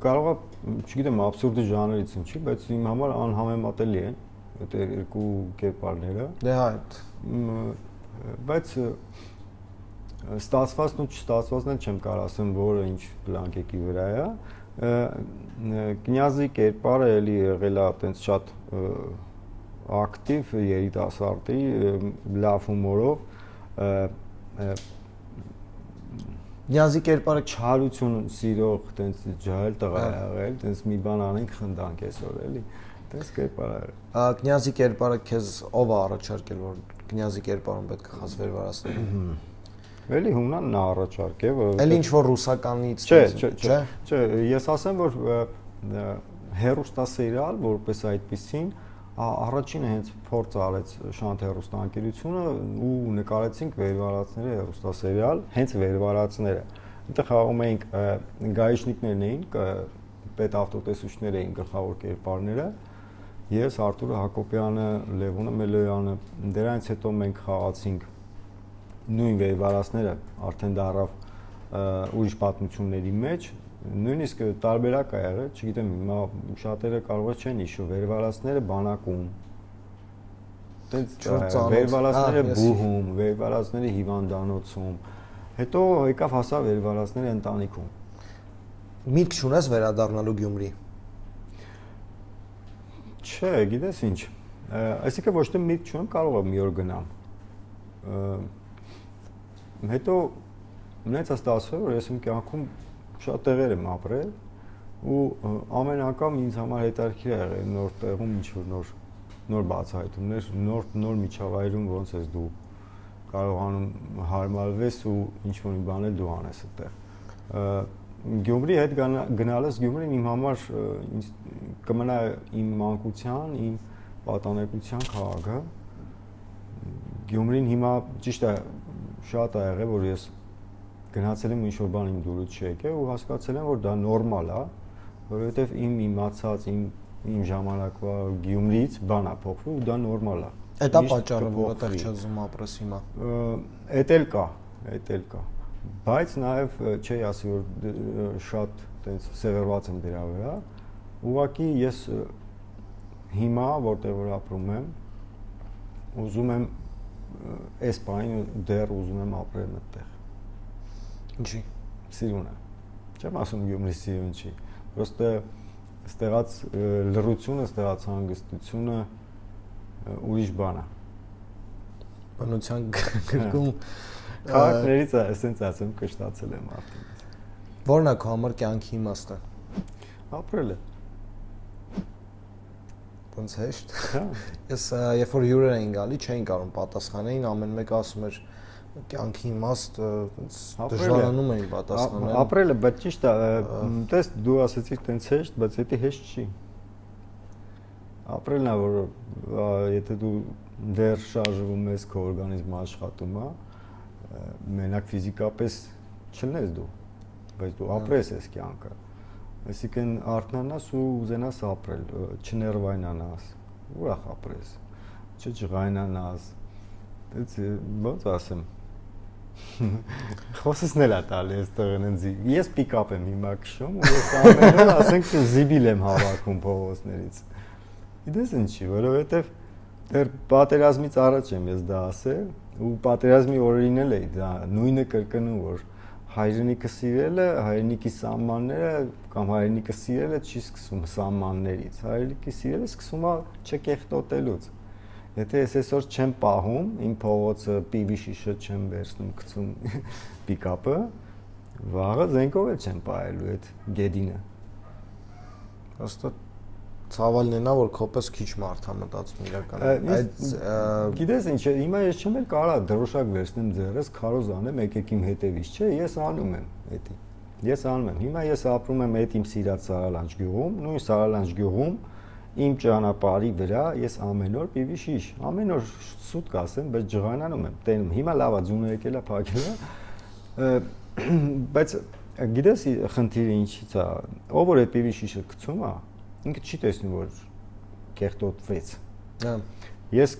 Կարող է, չգիտեմ, աբսուրդի ժանրից ինչի, բայց իմ համար անհամեմատելի են այդ երկու կերպարները։ Դե հա, բայց ստացվածն ու չստացվածն էլ չեմ կարող ասեմ, որը ինչ բլանկեկի վրա է։ Կնյազի կերպարը էլի եղել է այտենց շատ ակտիվ երիտասարդի, լավ հումորով։ Կնյազի կերպարը չարություն սիրող, այտենց ջահել տղա է եղել, այտենց մի բան անենք խնդանք այսօր էլի։ Այտենց կերպար է։ Կնյազի կերպարը քեզ ով է առաջարկել, որ կնյազի կերպարում պետք է խազ վերվարացնել։ Էլի հումնան նա առաջարկե, որ Էլի ինչ որ ռուսականից Չէ, ես ասեմ, որ հեռուստասերիալ որպես այդպեսին առաջինը հենց փորձ արեց Շանթ հեռուստաընկերությունը ու նկարեցինք վերվարածները հեռուստասերիալ, հենց վերվարածները։ Այնտեղ խաղում էինք գայիշնիկներն էին, պետավտոտեսուչներ էին գլխավոր կերպարները։ Ես Արտուր Հակոբյանը, Լևոնը Մելոյանը, դրանից հետո մենք խաղացինք նույն վերվարածները արդեն դարավ ուրիշ պատմությունների մեջ, նույնիսկ տարբերակ ա եղել, չգիտեմ, հիմա շատերը կարող է չեն հիշում, վերվարածները բանակում, վերվարածները բուհում, վերվարածները հիվանդանոցում, հետո եկավ հասա վերվարածները ընտանիքում։ Միտք չունես վերադառնալու Գյումրի։ Չէ, գիտես ինչ, այսինքն ոչ թե միտք չունեմ, կարող եմ մի օր գնամ։ հետո նենց ստացվել, որ ես իմ կյանքում շատ տեղեր եմ ապրել ու ամեն անգամ ինձ համար հետաքրքիր է եղել նոր տեղում ինչ-որ նոր բացահայտումներ, նոր միջավայրում ոնց ես դու կարողանում հարմարվես ու ինչ-որ մի բան էլ դու անես այդտեղ։ Գյումրի հետ գնալս Գյումրին իմ համար կմնա իմ մանկության, իմ պատանեկության քաղաքը։ Գյումրին հիմա ճիշտ է շատ ա եղել, որ ես գնացել եմ ինչ-որ բան իմ դուրս չեկել ու հասկացել եմ, որ դա նորմալ է, որովհետև իմ իմացած, իմ ժամանակվա Գյումրից բան է փոխվում ու դա նորմալ է։ Այդ է պատճառը, որ այդտեղ չզում ապրես հիմա։ Էդ էլ կա։ Բայց նաև չի ասի, որ շատ տենց սևեռված եմ դրա վրա։ Ուղղակի ես հիմա, որտեղ որ ապրում եմ, ուզում եմ այս բանը դեռ ուզում եմ ապրել այդտեղ։ Ինչի։ Սիրուն է։ Չեմ ասում Գյումրի սիրուն չի։ Պրոստը ստեղած լռությունը, ստեղած հանգստությունը ուրիշ բան է։ Բնության գրկում քաղաքներից է, ասենց ասեմ, կշտացել եմ արդեն։ Որն է քո համար կյանքի իմաստը։ Ապրելը։ Ոնց հեշտ։ Հա։ Ես երբ որ հյուրեր էին գալի, չէին կարող պատասխանել, ամեն մեկը ասում էր կյանքի իմաստը, դժվարանում էին պատասխանել։ Ապրելը, բայց ճիշտ է, տես դու ասեցիր տենց հեշտ, բայց դա հեշտ չի։ Ապրելն է, որ եթե դու դեռ շարժվում ես, քո օրգանիզմը աշխատում է, մենակ ֆիզիկապես չլնես դու, բայց դու ապրես ես կյանքը։ Այսինքն արթնանաս ու ուզենաս ապրել, չներվայնանաս, ուրախ ապրես, չջղայնանաս։ Դից ոնց ասեմ։ Խոսեսն էլ է տալի այստեղ ընձի։ Ես պիկապ եմ հիմա քշում ու ես ամեն օր ասենք զիբիլ եմ հավաքում փողոցներից։ Իդես ինչի, որովհետև դեռ պատերազմից առաջ եմ ես դա ասել ու պատերազմի օրերին էլ էի դա նույնը կրկնում, որ հայրենիքը սիրելը, հայրենիքի սահմանները կամ հայրենիքը սիրելը չի սկսում սահմաններից, հայրենիքի սիրելը սկսում է չկեղտոտելուց։ Եթե ես այսօր չեմ պահում, իմ փողոցը պիվի շիշը չեմ վերցնում, գցում պիկապը, վաղը զենքով էլ չեմ պահելու այդ գեդինը։ Հաստատ ցավալն է նա, որ քոպես քիչ մարդ է մտածում իրականում։ Այդ գիտես ինչ է, հիմա ես չեմ էլ կարա դրոշակ վերցնեմ ձեռս, քարոզ անեմ, եկեք իմ հետևից, չէ, ես անում եմ էդի։ Ես անում եմ։ Հիմա ես ապրում եմ այդ իմ սիրած Սարալանջ գյուղում, նույն Սարալանջ գյուղում իմ ճանապարհի վրա ես ամեն օր պիվի շիշ, ամեն օր սուտ կասեմ, բայց ջղանանում եմ, տենում։ Հիմա լավ է, ձյունը եկել է, փակել է։ Բայց գիտես խնդիրը ինչից է, ով որ այդ պիվի շիշը գցում է, ինքը չի տեսնում, որ կեղտոտվեց։ Հա։ Ես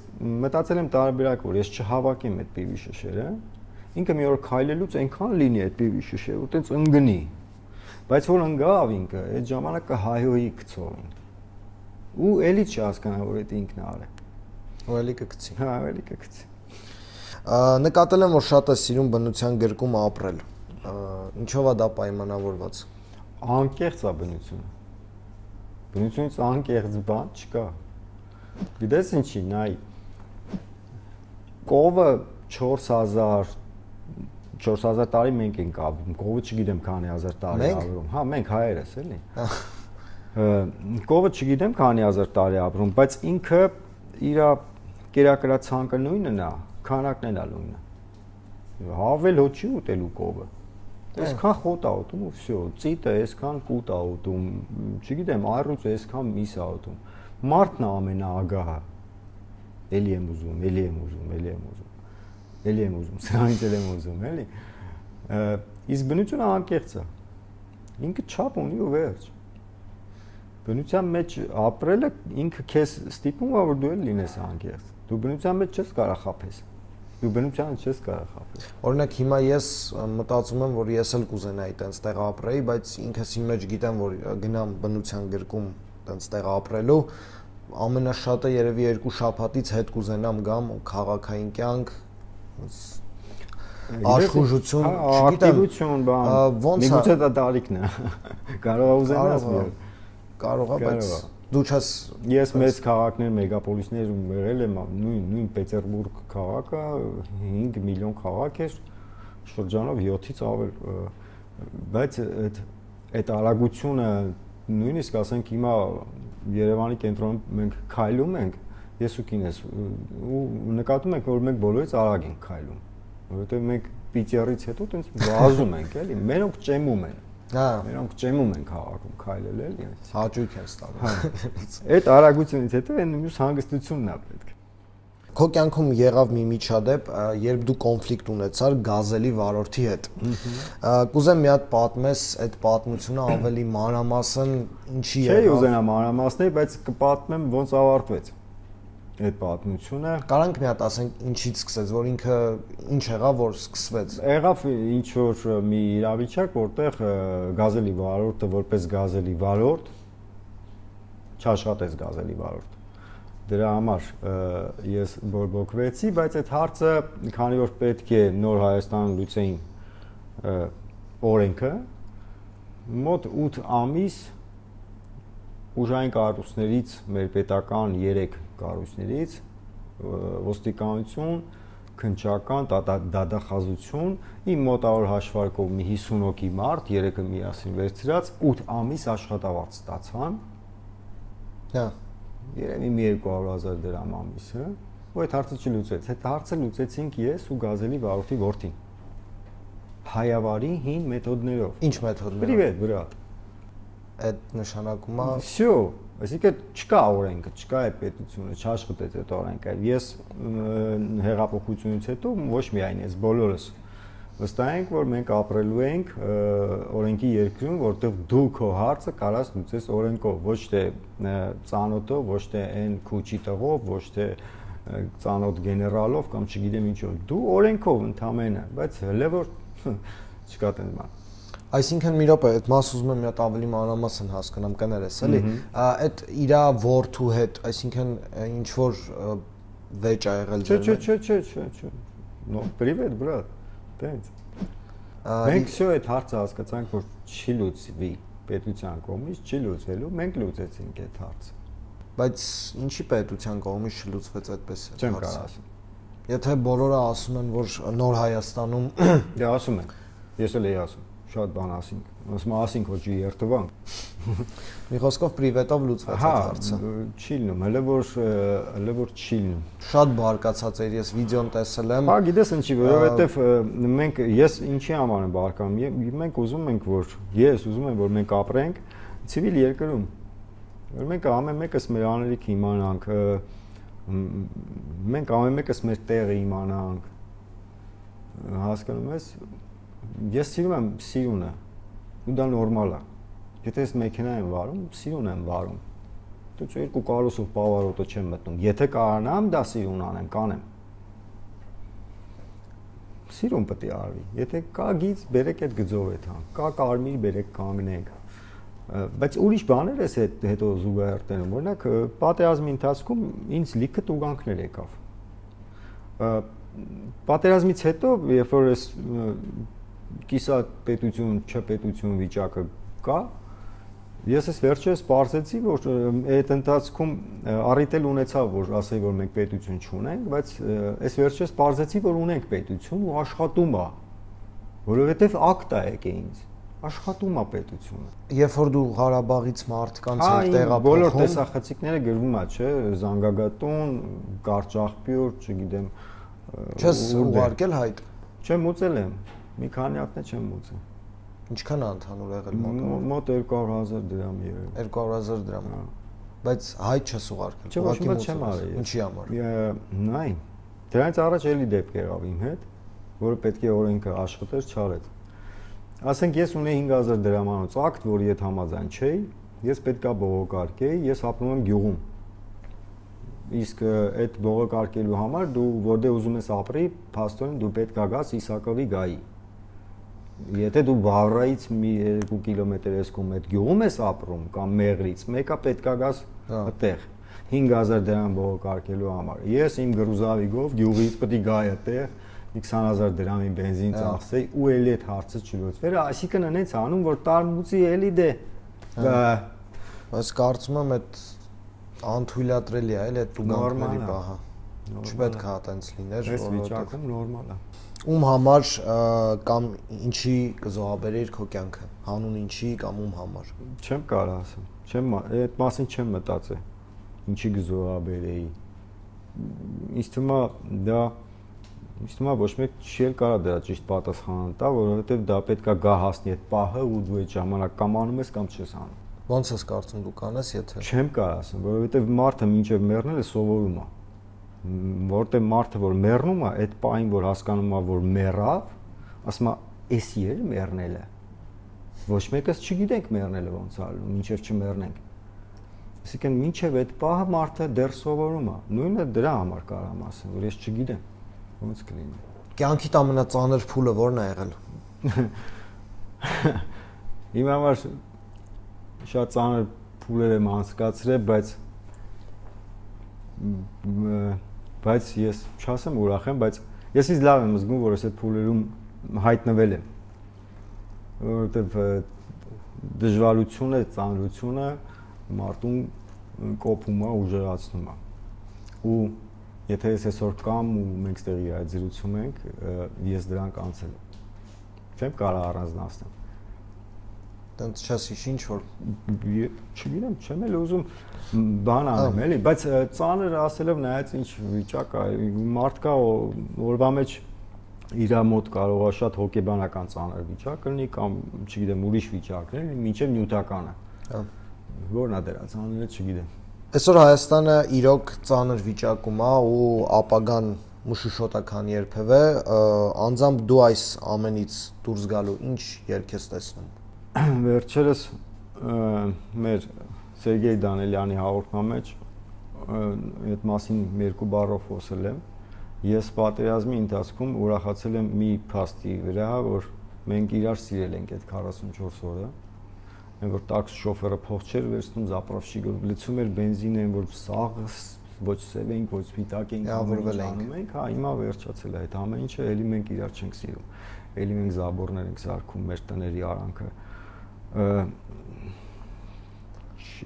մտածել եմ տարբերակ, որ ես չհավաքեմ այդ պիվի շշերը, ինքը մի օր քայլելուց այնքան լինի այդ պիվի շշերը, ու տենց ընկնի։ Բայց որ ընկավ ինքը, այդ ժամանակը հայոյի գցողին։ Ու էլի չհասկանա, որ դա ինքն է արել։ Ու էլի կգցի։ Հա, էլի կգցի։ Նկատել եմ, որ շատ է սիրում բնության գրկում ապրել։ Ինչով է դա պայմանավորված։ Անկեղծ է բնությունը։ Բնությունից անկեղծ բան չկա։ Գիտես ինչի, նայ։ Կովը 4000 տարի մենք ենք ապրում, կովը չգիտեմ քանի հազար տարի ապրում։ Հա, մենք հայերս էլի։ Կովը չգիտեմ քանի հազար տարի ապրում, բայց ինքը իր կերակրացանկը նույնն է, քանակն էլ է նույնը։ Հավել հո չի ուտելու կովը։ Այսքան խոտ է ուտում ու վсё, ծիտը այսքան կուտ է ուտում, չգիտեմ, այռուց այսքան միս է ուտում։ Մարդն է ամենաագահը։ Էլի եմ ուզում, սրանից էլ եմ ուզում, էլի։ Իսկ բնությունը անկեղծ է։ Ինքը չափ ունի ու վերջ։ Բնության մեջ ապրելը ինքը քեզ ստիպում է, որ դու էլ լինես անկեղծ։ Դու բնության մեջ չես կարող խաբես։ Դու բնությանը չես կարող խաբես։ Օրինակ հիմա ես մտածում եմ, որ ես էլ կուզենայի տենց տեղ ապրեի, բայց ինքս իմ մեջ գիտեմ, որ գնամ բնության գրկում տենց տեղ ապրելու, ամենաշատը երևի 2 շաբաթից հետ կուզենամ գամ քաղաքային կյանք, աշխուժություն, ակտիվություն, բան։ Միգուցե դա տարիքն է։ Կարող է ուզենաս մի օր։ Կարող է, բայց դու չես։ Ես մեծ քաղաքներ, մեգապոլիսներ եղել եմ, նույն Պետերբուրգ քաղաքը 5 միլիոն քաղաք էր, շրջանով 7-ից ավել, բայց այդ արագությունը նույնիսկ ասենք հիմա Երևանի կենտրոնում մենք քայլում ենք, ես ու կինս ու նկատում ենք, որ մենք բոլորից արագ ենք քայլում, որովհետև մենք պիտյարից հետո տենց վազում ենք, էլի, մենոնք ճեմում են։ Հա, մենոնք ճեմում են քաղաքում քայլել, էլի։ Հաճույք են ստանում։ Այդ արագությունից հետո այն մյուս հանգստությունն է պետք։ Քո կյանքում եղավ մի միջադեպ, երբ դու կոնֆլիկտ ունեցար գազելի վարորդի հետ։ Կուզեմ մի հատ պատմես այդ պատմությունը ավելի մանրամասն, ինչի եղավ։ Չէ, ուզենամ մանրամասնել, բայց կպատմեմ ոնց ավարտվեց այդ պատմությունը։ Կարանք մի հատ ասենք ինչից սկսեց, որ ինքը ինչ եղավ, որ սկսվեց։ Եղավ ինչ որ մի իրավիճակ, որտեղ գազելի վարորդը որպես գազելի վարորդ չաշխատեց գազելի վարորդ։ Դրա համար ես բորբոքվեցի, բայց այդ հարցը, քանի որ պետք է նոր Հայաստան լուծեին օրենքը, մոտ 8 ամիս ուժային կառույցներից, մեր պետական 3 կառույցներից, ոստիկանություն, քննչական, դատախազություն, իմ մոտավոր հաշվարկով մի 50 հոգի մարդ, 3-ը միասին վերցրած 8 ամիս աշխատավարձ ստացան։ Հա, երևի մի 200,000 դրամ ամիսը, ու այդ հարցը չլուծեց։ Այդ հարցը լուծեցինք ես ու գազելի վարորդի որդին։ Հայավարի հին մեթոդներով։ Ինչ մեթոդներով։ Պրիվետ, բրատ։ Այդ նշանակում է Всё, այսինքն չկա օրենքը, չկա այդ պետությունը, չաշխատեց այդ օրենքը։ Ես հեղափոխությունից հետո ոչ միայն ես, բոլորս վստահ ենք, որ մենք ապրելու ենք օրենքի երկրում, որտեղ դու քո հարցը կարաս լուծես օրենքով, ոչ թե ծանոթով, ոչ թե այն քուչի տղով, ոչ թե ծանոթ գեներալով կամ չգիտեմ ինչով։ Դու օրենքով ընդամենը, բայց հələ որ չկա տենց բան։ Այսինքն մի րոպե, այդ մաս ուզում եմ մի հատ ավելի մանրամասն հասկանամ, կներես, էլի։ Այդ իրա որդու հետ, այսինքն ինչ որ վեճ ա եղել ձեր։ Չէ։ No, привет, брат։ Տենց։ Մենք всё այդ հարցը հասկացանք, որ չի լուծվի պետության կողմից, չի լուծվելու, մենք լուծեցինք այդ հարցը։ Բայց ինչի պետության կողմից չլուծվեց այդպես հարցը։ Չեմ կարող ասել։ Եթե բոլորը ասում են, որ նոր Հայաստանում Դե ասում են։ Ես էլ էի ասում, շատ բան ասինք։ Ասենք, որ չի երթվանք։ Մի խոսքով պրիվետով լուծվեց այդ հարցը։ Չի լինում, հələ որ չի լինում։ Շատ բարկացած էր, ես վիդեոն տեսել եմ։ Հա, գիտես ինչի, որովհետև մենք ես ինչի համար եմ բարկանում։ Մենք ուզում ենք, որ ես ուզում եմ, որ մենք ապրենք ցիվիլ երկրում։ Որ մենք ամեն մեկս մեր աներիքը իմանանք, մենք ամեն մեկս մեր տեղը իմանանք։ Հասկանում ես, ես սիրում եմ սիրունը, ու դա նորմալ է։ Եթե ես մեքենա եմ վարում, սիրուն եմ վարում։ Դուք երկու կարուսով պավարոտը չեմ մտնում։ Եթե կարողանամ դա սիրուն անեմ, կանեմ։ Սիրուն պետք է արվի։ Եթե կա գիծ, բերեք այդ գծով այդ հան։ Կա կարմիր, բերեք կանգնենք։ Բայց ուրիշ բաներ էս հետո զուգահեռտերում, օրինակ պատերազմի ընթացքում ինձ լիքը տուգանքներ եկավ։ Պատերազմից հետո, երբ որ ես կիսա պետություն, չպետություն վիճակը կա, ես ես վերջերս պարզեցի, որ այդ ընթացքում առիթել ունեցավ, որ ասեի, որ մենք պետություն չունենք, բայց ես վերջերս պարզեցի, որ ունենք պետություն ու աշխատում է, որովհետև ակտ է եկե ինձ, աշխատում է պետությունը։ Երբ որ դու Ղարաբաղից մարդկանց հետ տեղափոխում, բոլոր տեսախցիկները գրվում է, չէ, Զանգագատուն, Կարճախպյուր, չգիտեմ, չես ուղարկել հայտ։ Չեմ ուծել եմ, մի քանի հատն չեմ ուծել։ Ինչքան է ընդհանուր եղել մոտավոր։ Մոտ 200,000 դրամ երևի։ 200,000 դրամ։ Բայց հայտ չես ուղարկել։ Չէ, ոչ մի չեմ արել։ Ինչի համար։ Նայ, դրանից առաջ էլի դեպք եղավ իմ հետ, որը պետք է օրենքը աշխատեր, չարեց։ Ասենք ես ունեի 5,000 դրամանոց ակտ, որի հետ համաձայն չէի, ես պետքա բողոքարկեի, ես ապրում եմ գյուղում։ Իսկ այդ բողոքարկելու համար դու որտեղ ուզում ես ապրի, փաստորեն դու պետքա գաս Իսակովի գայի։ Եթե դու Վավրայից մի 2 կիլոմետր ես կողմ այդ գյուղում ես ապրում կամ Մեղրից, մեկը պետքա գաս այդտեղ 5,000 դրամ բողոքարկելու համար։ Ես իմ գրուզավիկով գյուղից պետք է գայի այդտեղ 20,000 դրամի բենզին ծախսեի ու էլի այդ հարցը չլուծվեր, այսինքն այնց անում, որ տարմուծի էլի դե։ Բայց կարծում եմ այդ անթույլատրելի է, էլի այդ տուգանքների բահը։ Չպետք է այտենց լիներ, այս վիճակում նորմալ է։ Ում համար կամ ինչի կզոհաբերեիր քո կյանքը, հանուն ինչի կամ ում համար։ Չեմ կարող ասեմ, այդ մասին չեմ մտածել, ինչի կզոհաբերեի։ Ինձ թվում է ոչ մեկ չի էլ կարող դրա ճիշտ պատասխանը տա, որովհետև դա պետքա գա հասնի այդ պահը ու դու այդ ժամանակ կամ անում ես կամ չես անում։ Ոնց ես կարծում դու կանես, եթե։ Չեմ կարող ասեմ, որովհետև մարդը մինչև մեռնել է սովորում է։ Որտեղ մարդը որ մեռնում է, այդ պահին որ հասկանում է որ մեռավ, ասում է էսի էլ մեռնելը։ Ոչ մեկս չգիտենք մեռնելը ոնց է ալու, մինչև չմեռնենք։ Այսինքն մինչև այդ պահը մարդը դեռ սովորում է։ Նույնը դրա համար կարամ ասեմ, որ ես չգիտեմ ոնց կլինի։ Կյանքիդ ամենածանր փուլը ո՞րն է եղել։ Իմ համար շատ ծանր փուլեր եմ անցկացրել, բայց ես չասեմ ուրախ եմ, բայց ես ինձ լավ եմ զգում, որ ես այդ փուլերում հայտնվել եմ, որովհետև դժվարությունը, ծանրությունը մարդուն կոփում է, ուժեղացնում է։ Ու եթե ես այսօր կամ ու մենք ստեղի այդ զրուցում ենք, ես դրանք անցել եմ։ Չեմ կարող առանձնացնել։ Տենց չես ինչ որ չգիտեմ, չեմ էլ ուզում բան անեմ, էլի, բայց ծանր ասելով նայած ինչ վիճակ է, մարդ կա օրվա մեջ իր մոտ կարող է շատ հոգեբանական ծանր վիճակ լինի կամ չգիտեմ ուրիշ վիճակներ, մինչև նյութականը։ Հա։ Որն է դրա ծանրը, չգիտեմ։ Այսօր Հայաստանը իրոք ծանր վիճակում է ու ապագան մշուշոտական երբևէ, անձամբ դու այս ամենից դուրս գալու ինչ ելք ես տեսնում։ Վերջերս մեր Սերգեյ Դանելյանի հաղորդման մեջ այդ մասին երկու բառով խոսել եմ։ Ես պատերազմի ընթացքում ուրախացել եմ մի փաստի վրա, որ մենք իրար սիրել ենք այդ 44 օրը։ Մենք որ տաքսի շոֆերը փող չէր վերցնում, զապրավշիկը լցում էր բենզինը, որ սաղ ոչ սև ենք, ոչ սպիտակ ենք, ավրվել ենք, հա, հիմա վերջացել է այդ ամեն ինչը, էլի մենք իրար չենք սիրում։ Էլի մենք զաբորներ ենք սարքում մեր տների արանքը։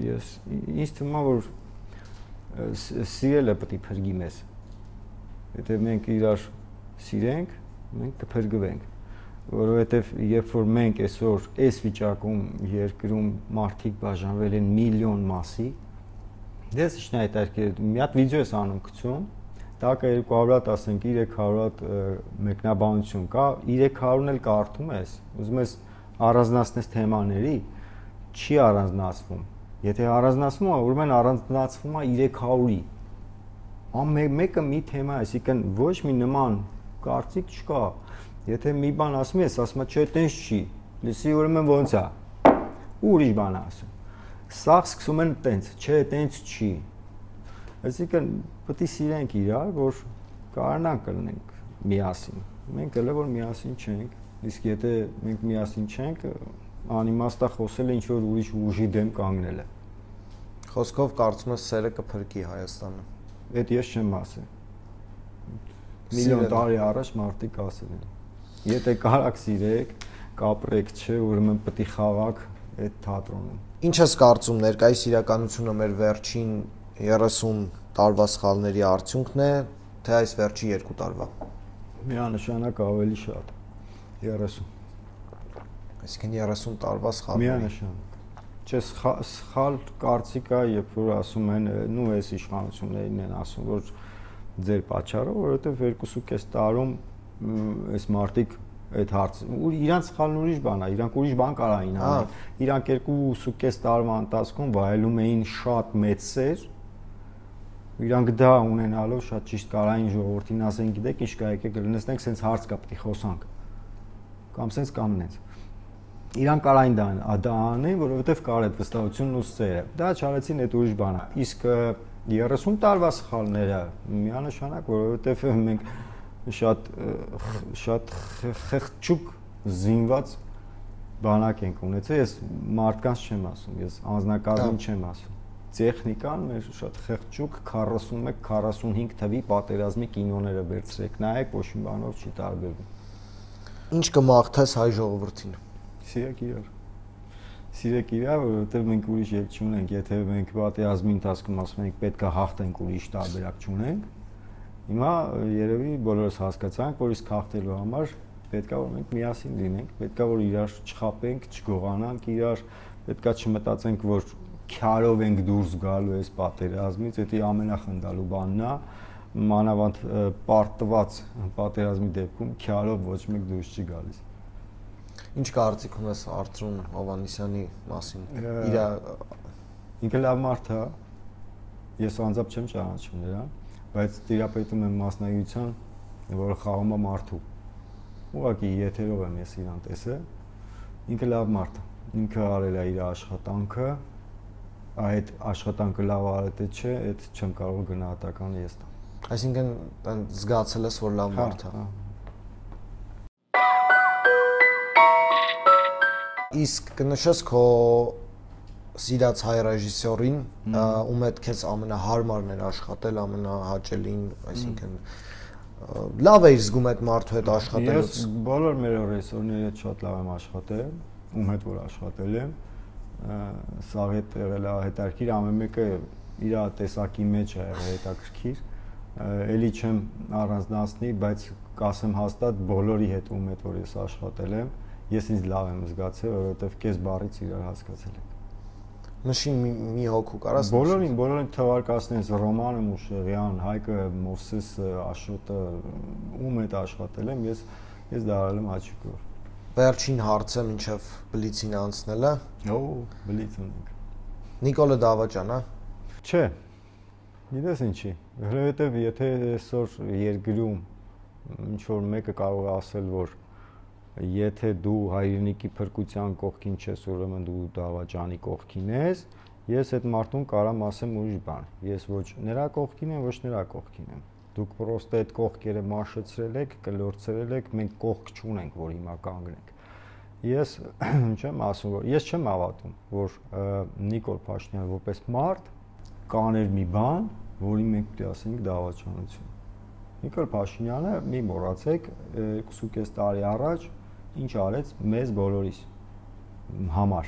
Ես ինձ թվում է որ սիրելը պետք է փրկի մեզ։ Եթե մենք իրար սիրենք, մենք կփրկվենք, որովհետև երբ որ մենք այսօր այս վիճակում երկրում մարդիկ բաժանվել են միլիոն մասի, դες ինչ հայտարարել, մի հատ վիդեո ես անում գցում, տակը 200-1300 մեկնաբանություն կա, 300-ն էլ կարդում ես, ուզում ես առանձնացնես թեմաների, չի առանձնացվում։ Եթե առանձնացվում է, ուրեմն առանձնացվում է 300-ի։ Մեկը մի թեմա է, այսինքն ոչ մի նման կարծիք չկա։ Եթե մի բան ասում ես, ասում ես, չէ, տենց չի։ Լսի ուրեմն ոնց է։ Ու ուրիշ բան ասում։ Սաղ սկսում են տենց, չէ, տենց չի։ Այսինքն պետք է սիրենք իրար, որ կարողանանք լինենք միասին։ Մենք էլ որ միասին չենք, իսկ եթե մենք միասին չենք, անիմաստա խոսել է ինչ որ ուրիշ ուժի դեմ կանգնել է։ Խոսքով կարծում ես սերը կփրկի Հայաստանը։ Այդ ես չեմ ասել։ Միլիոն տարի առաջ մարդիկ ասել են։ Եթե կարաք սիրեք, կապրեք, չէ, ուրեմն պետք է խաղաք այդ թատրոնում։ Ինչ ես կարծում ներկայիս իրականությունը մեր վերջին 30 տարվա սխալների արդյունքն է, թե այս վերջի 2 տարվա։ Միանշանակ ավելի շատ։ 30։ Այսինքն 30 տարվա սխալներ։ Միանշանակ։ Չէ, սխալ կարծիք է, երբ որ ասում են, նու այս իշխանություններին են ասում, որ ձեր պատճառով, որովհետև 2.5 տարում այս մարդիկ այդ հարցը իրանց սխալն ուրիշ բան է, իրանք ուրիշ բան կարային անել։ Իրանք 2.5 տարվա ընթացքում վայելում էին շատ մեծ սեր։ Իրանք դա ունենալով շատ ճիշտ կարային ժողովրդին ասեն, գիտեք, ինչ կա, եկեք լնեցնենք, սենց հարց կա, պետք է խոսանք։ Կամ սենց կամ նենց։ Իրանք կարային դա անեն, որովհետև կար այդ վստահությունն ու սերը։ Դա չարեցին, այդ ուրիշ բան է։ Իսկ 30 տարվա սխալները միանշանակ, որովհետև մենք շատ խեղճուկ զինված բանակ ենք ունեցել, ես մարդկանց չեմ ասում, ես անձնակազմին չեմ ասում։ Տեխնիկան մեր շատ խեղճուկ 41-45 թվի պատերազմի կինոները վերցրեք, նայեք, ոչ մի բանով չի տարբերվում։ Ինչ կմաղթես հայ ժողովրդին։ Սիրեք իրար։ Սիրեք իրար, որովհետև մենք ուրիշ ելք չունենք, եթե մենք պատերազմի ընթացքում ասում ենք պետք է հաղթենք ուրիշ տարբերակ չունենք, Հիմա երևի բոլորս հասկացանք, որ իսկ հաղթելու համար պետք է որ մենք միասին լինենք, պետք է որ իրար չխաբենք, չգողանանք իրար, պետք է չմտածենք, որ քյարով ենք դուրս գալու այս պատերազմից, դա ամենախնդալու բանն է, մանավանդ պարտված պատերազմի դեպքում քյարով ոչ մեկ դուրս չի գալիս։ Ինչ կարծիք ունես Արծրուն Հովհաննիսյանի մասին։ Ինքը լավ մարդ է, ես անձամբ չեմ ճանաչում նրան, բայց տիրապետում եմ մասնագիտության, որը խաղում է մարդու։ Ուղղակի եթերով եմ ես իրան տեսել, ինքը լավ մարդ է, ինքը արել է իր աշխատանքը, այդ աշխատանքը լավ արել թե չէ, այդ չեմ կարող գնահատականը ես տամ։ Այսինքն զգացել ես, որ լավ մարդ է։ Իսկ կնշես քո սիրած հայ ռեժիսորին, ում հետ քեզ ամենահարմարն էր աշխատել, ամենահաճելին, այսինքն լավ էիր զգում այդ մարդու հետ աշխատելուց։ Ես բոլոր մեր ռեժիսորների հետ շատ լավ եմ աշխատել, ում հետ որ աշխատել եմ, սա հետ եղել է հետաքրքիր, ամեն մեկը իր տեսակի մեջ է եղել հետաքրքիր, էլի չեմ առանձնացնի, բայց կասեմ հաստատ բոլորի հետ ում հետ որ ես աշխատել եմ, ես ինձ լավ եմ զգացել, որովհետև կես բառից իրար հասկացել ենք։ Նշի մի հոգու կարաս։ Բոլորին թվարկացնես Ռոմանը Մուշեղյան, Հայկը Մովսեսը, Աշոտը, ում հետ աշխատել եմ, ես դա արել եմ հաճիկով։ Վերջին հարցը մինչև բլիցին անցնելը։ Բլից ունենք։ Նիկոլը Դավաճան, հա։ Չէ։ Գիտես ինչի։ Որովհետև եթե այսօր երկրում ինչ որ մեկը կարող է ասել, որ եթե դու հայրենիքի փրկության կողքին չես, ուրեմն դու Դավաճանի կողքին ես, ես այդ մարդուն կարամ ասեմ ուրիշ բան։ Ես ոչ նրա կողքին եմ, ոչ նրա կողքին եմ։ Դուք պրոստը այդ կողքերը մաշեցրել եք, կլորցրել եք, մենք կողք չունենք, որ հիմա կանգնենք։ Ես չեմ ասում, որ ես չեմ հավատում, որ Նիկոլ Փաշինյանը որպես մարդ կաներ մի բան, որի մենք պետք է ասենք դավաճանություն։ Նիկոլ Փաշինյանը մի մոռացեք 2.5 տարի առաջ ինչ արեց մեզ բոլորիս համար։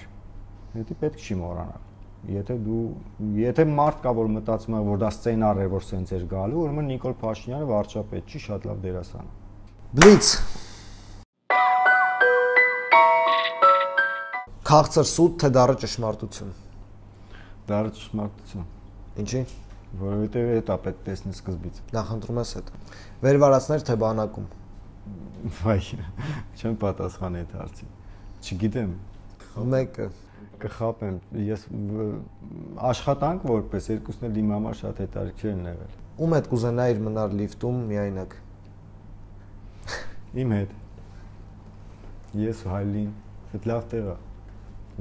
Դա պետք չի մոռանալ։ Եթե մարդ կա, որ մտածում է, որ դա սցենար է, որ սենց էր գալու, ուրեմն Նիկոլ Փաշինյանը վարչապետ չի, շատ լավ դերասան է։ Բլից։ Քաղցր սուտ թե դառը ճշմարտություն։ Դառը ճշմարտություն։ Ինչի՞։ Որովհետև դա պետք է տեսնես սկզբից։ Նախընտրում ես այդ։ Վերվարացներ թե բանակում։ Վայ, չեմ պատասխան այդ հարցին։ Չգիտեմ։ Մեկը կխապեմ։ Ես աշխատանք որպես երկուսն էլ իմ համար շատ հետաքրքիր են եղել։ Ում հետ կուզենայիր մնալ լիֆտում միայնակ։ Իմ հետ։ Ես ու Հայլին, այդ լավ տեղ է։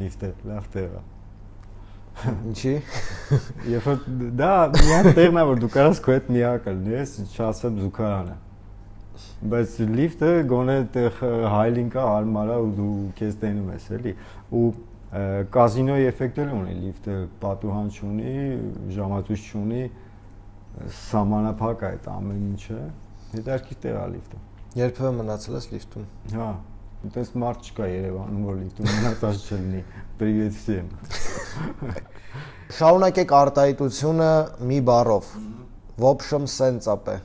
Լիֆտը լավ տեղ է։ Ինչի։ Երբ որ դա միակ տեղն է, որ դու կարաս քո հետ միակ լինես, չասեմ զուգարանը։ Բայց լիֆտը գոնե այդտեղ Հայլին կա, հարմար է ու դու քեզ տենում ես, էլի։ Ու կազինոյի էֆեկտ էլ ունի լիֆտը, պատուհան չունի, ժամացույց չունի, սահմանափակ է այդ ամեն ինչը։ Հետաքրքիր տեղ է լիֆտը։ Երբևէ մնացել ես լիֆտում։ Հա, այդպես մարդ չկա Երևանում, որ լիֆտում մնացած չլինի։ Պրիվետ всем։ Շարունակեք արտահայտությունը մի բառով։ Ոբշմ սենցապե։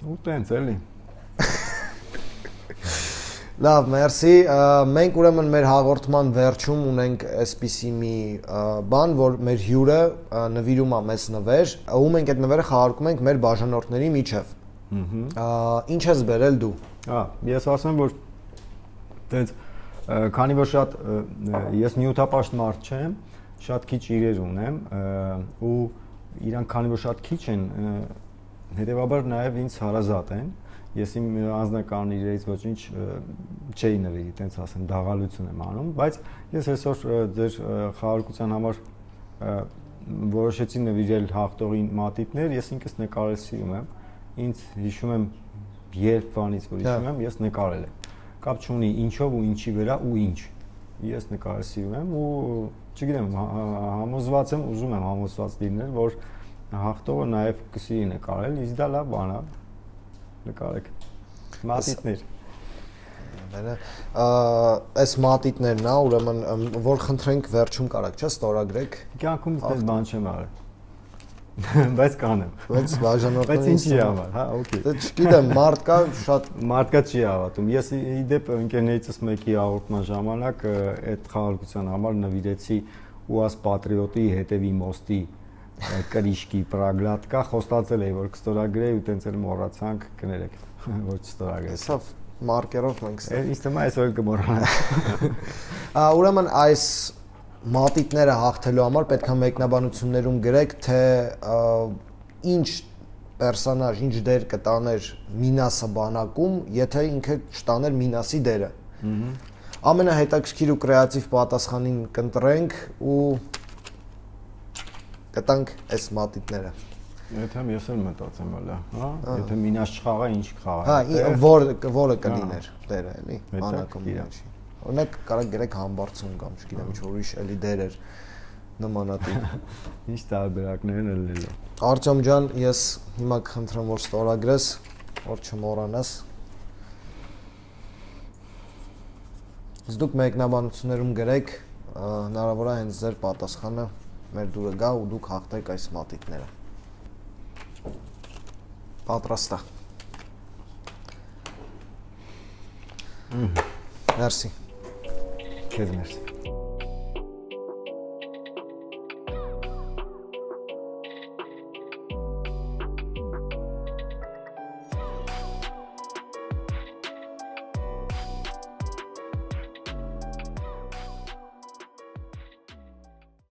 Ու տենց էլի։ Լավ, մերսի։ Մենք ուրեմն մեր հաղորդման վերջում ունենք այսպիսի մի բան, որ մեր հյուրը նվիրում է մեզ նվեր, ու մենք այդ նվերը խաղարկում ենք մեր բաժանորդների միջև։ Ինչ ես բերել դու։ Ես ասեմ, որ տենց քանի որ շատ ես նյութապաշտ մարդ չեմ, շատ քիչ իրեր ունեմ ու իրանք քանի որ շատ քիչ են, հետևաբար նաև ինձ հարազատ են։ Ես իմ անձնական իրերից ոչինչ չէի նվիրի, տենց ասեմ, դաղալություն եմ անում, բայց ես այսօր ձեր խաղարկության համար որոշեցի նվիրել հաղթողին մատիտներ, ես ինքս նկարել սիրում եմ, ինձ հիշում եմ երբ բանից որ հիշում եմ, ես նկարել եմ։ Կապ չունի ինչով ու ինչի վրա ու ինչ։ Ես նկարել սիրում եմ ու չգիտեմ, համոզված եմ, ուզում եմ համոզված լինել, որ հաղթողը նաև կսիրի նկարել, իսկ դա լավ բան է։ Նկարեք։ Մատիտներ։ Այս մատիտներն է, ուրեմն որ խնդրենք վերջում կարաք, չէ՞, ստորագրեք։ Կյանքում այդպես բան չեմ արել։ Բայց կանեմ։ Բայց բաժանորդը Բայց ինչի համար, հա, օքեյ։ Դե չգիտեմ, մարդկա շատ Մարդկա չի հավատում։ Ես իդեպ ընկերներիցս մեկի հաղորդման ժամանակ այդ խաղարկության համար նվիրեցի ՈՒԱԶ պատրիոտի հետևի մոստի կրիշկի պրագլատկա խոստացել էի որ կստորագրեի ու տենց էլ մոռացանք կներեք ոչ ստորագրել։ Սա մարկերով մենք ստա։ Ինձ թվում է այսօր կմոռանանք։ Ուրեմն այս մատիտները հաղթելու համար պետք է մեկնաբանություններում գրեք, թե ինչ պերսոնաժ, ինչ դեր կտաներ Մինասը բանակում, եթե ինքը չտաներ Մինասի դերը։ Ամենահետաքրքիր ու կրեատիվ պատասխանին կընտրենք ու կտանք այս մատիտները։ Եթե ես էլ մտածեմ հələ, հա, եթե Մինաս չխաղա, ինչ կխաղա։ Հա, որը կլիներ դերը, էլի, բանակում ինչի։ Օրինակ կարող գրեք համբարձում կամ չգիտեմ ինչ որ ուրիշ էլի դեր էր նմանատիպ։ Ինչ տարբերակներ են ելնելու։ Արտյոմ ջան, ես հիմա կխնդրեմ որ ստորագրես, որ չմոռանաս։ Իսկ դուք մեկնաբանություններում գրեք, հնարավոր է հենց ձեր պատասխանը մեր դուրը գա ու դուք հաղթեք այս մատիտները։ Պատրաստ է։ Մերսի։ Քեզ մերսի։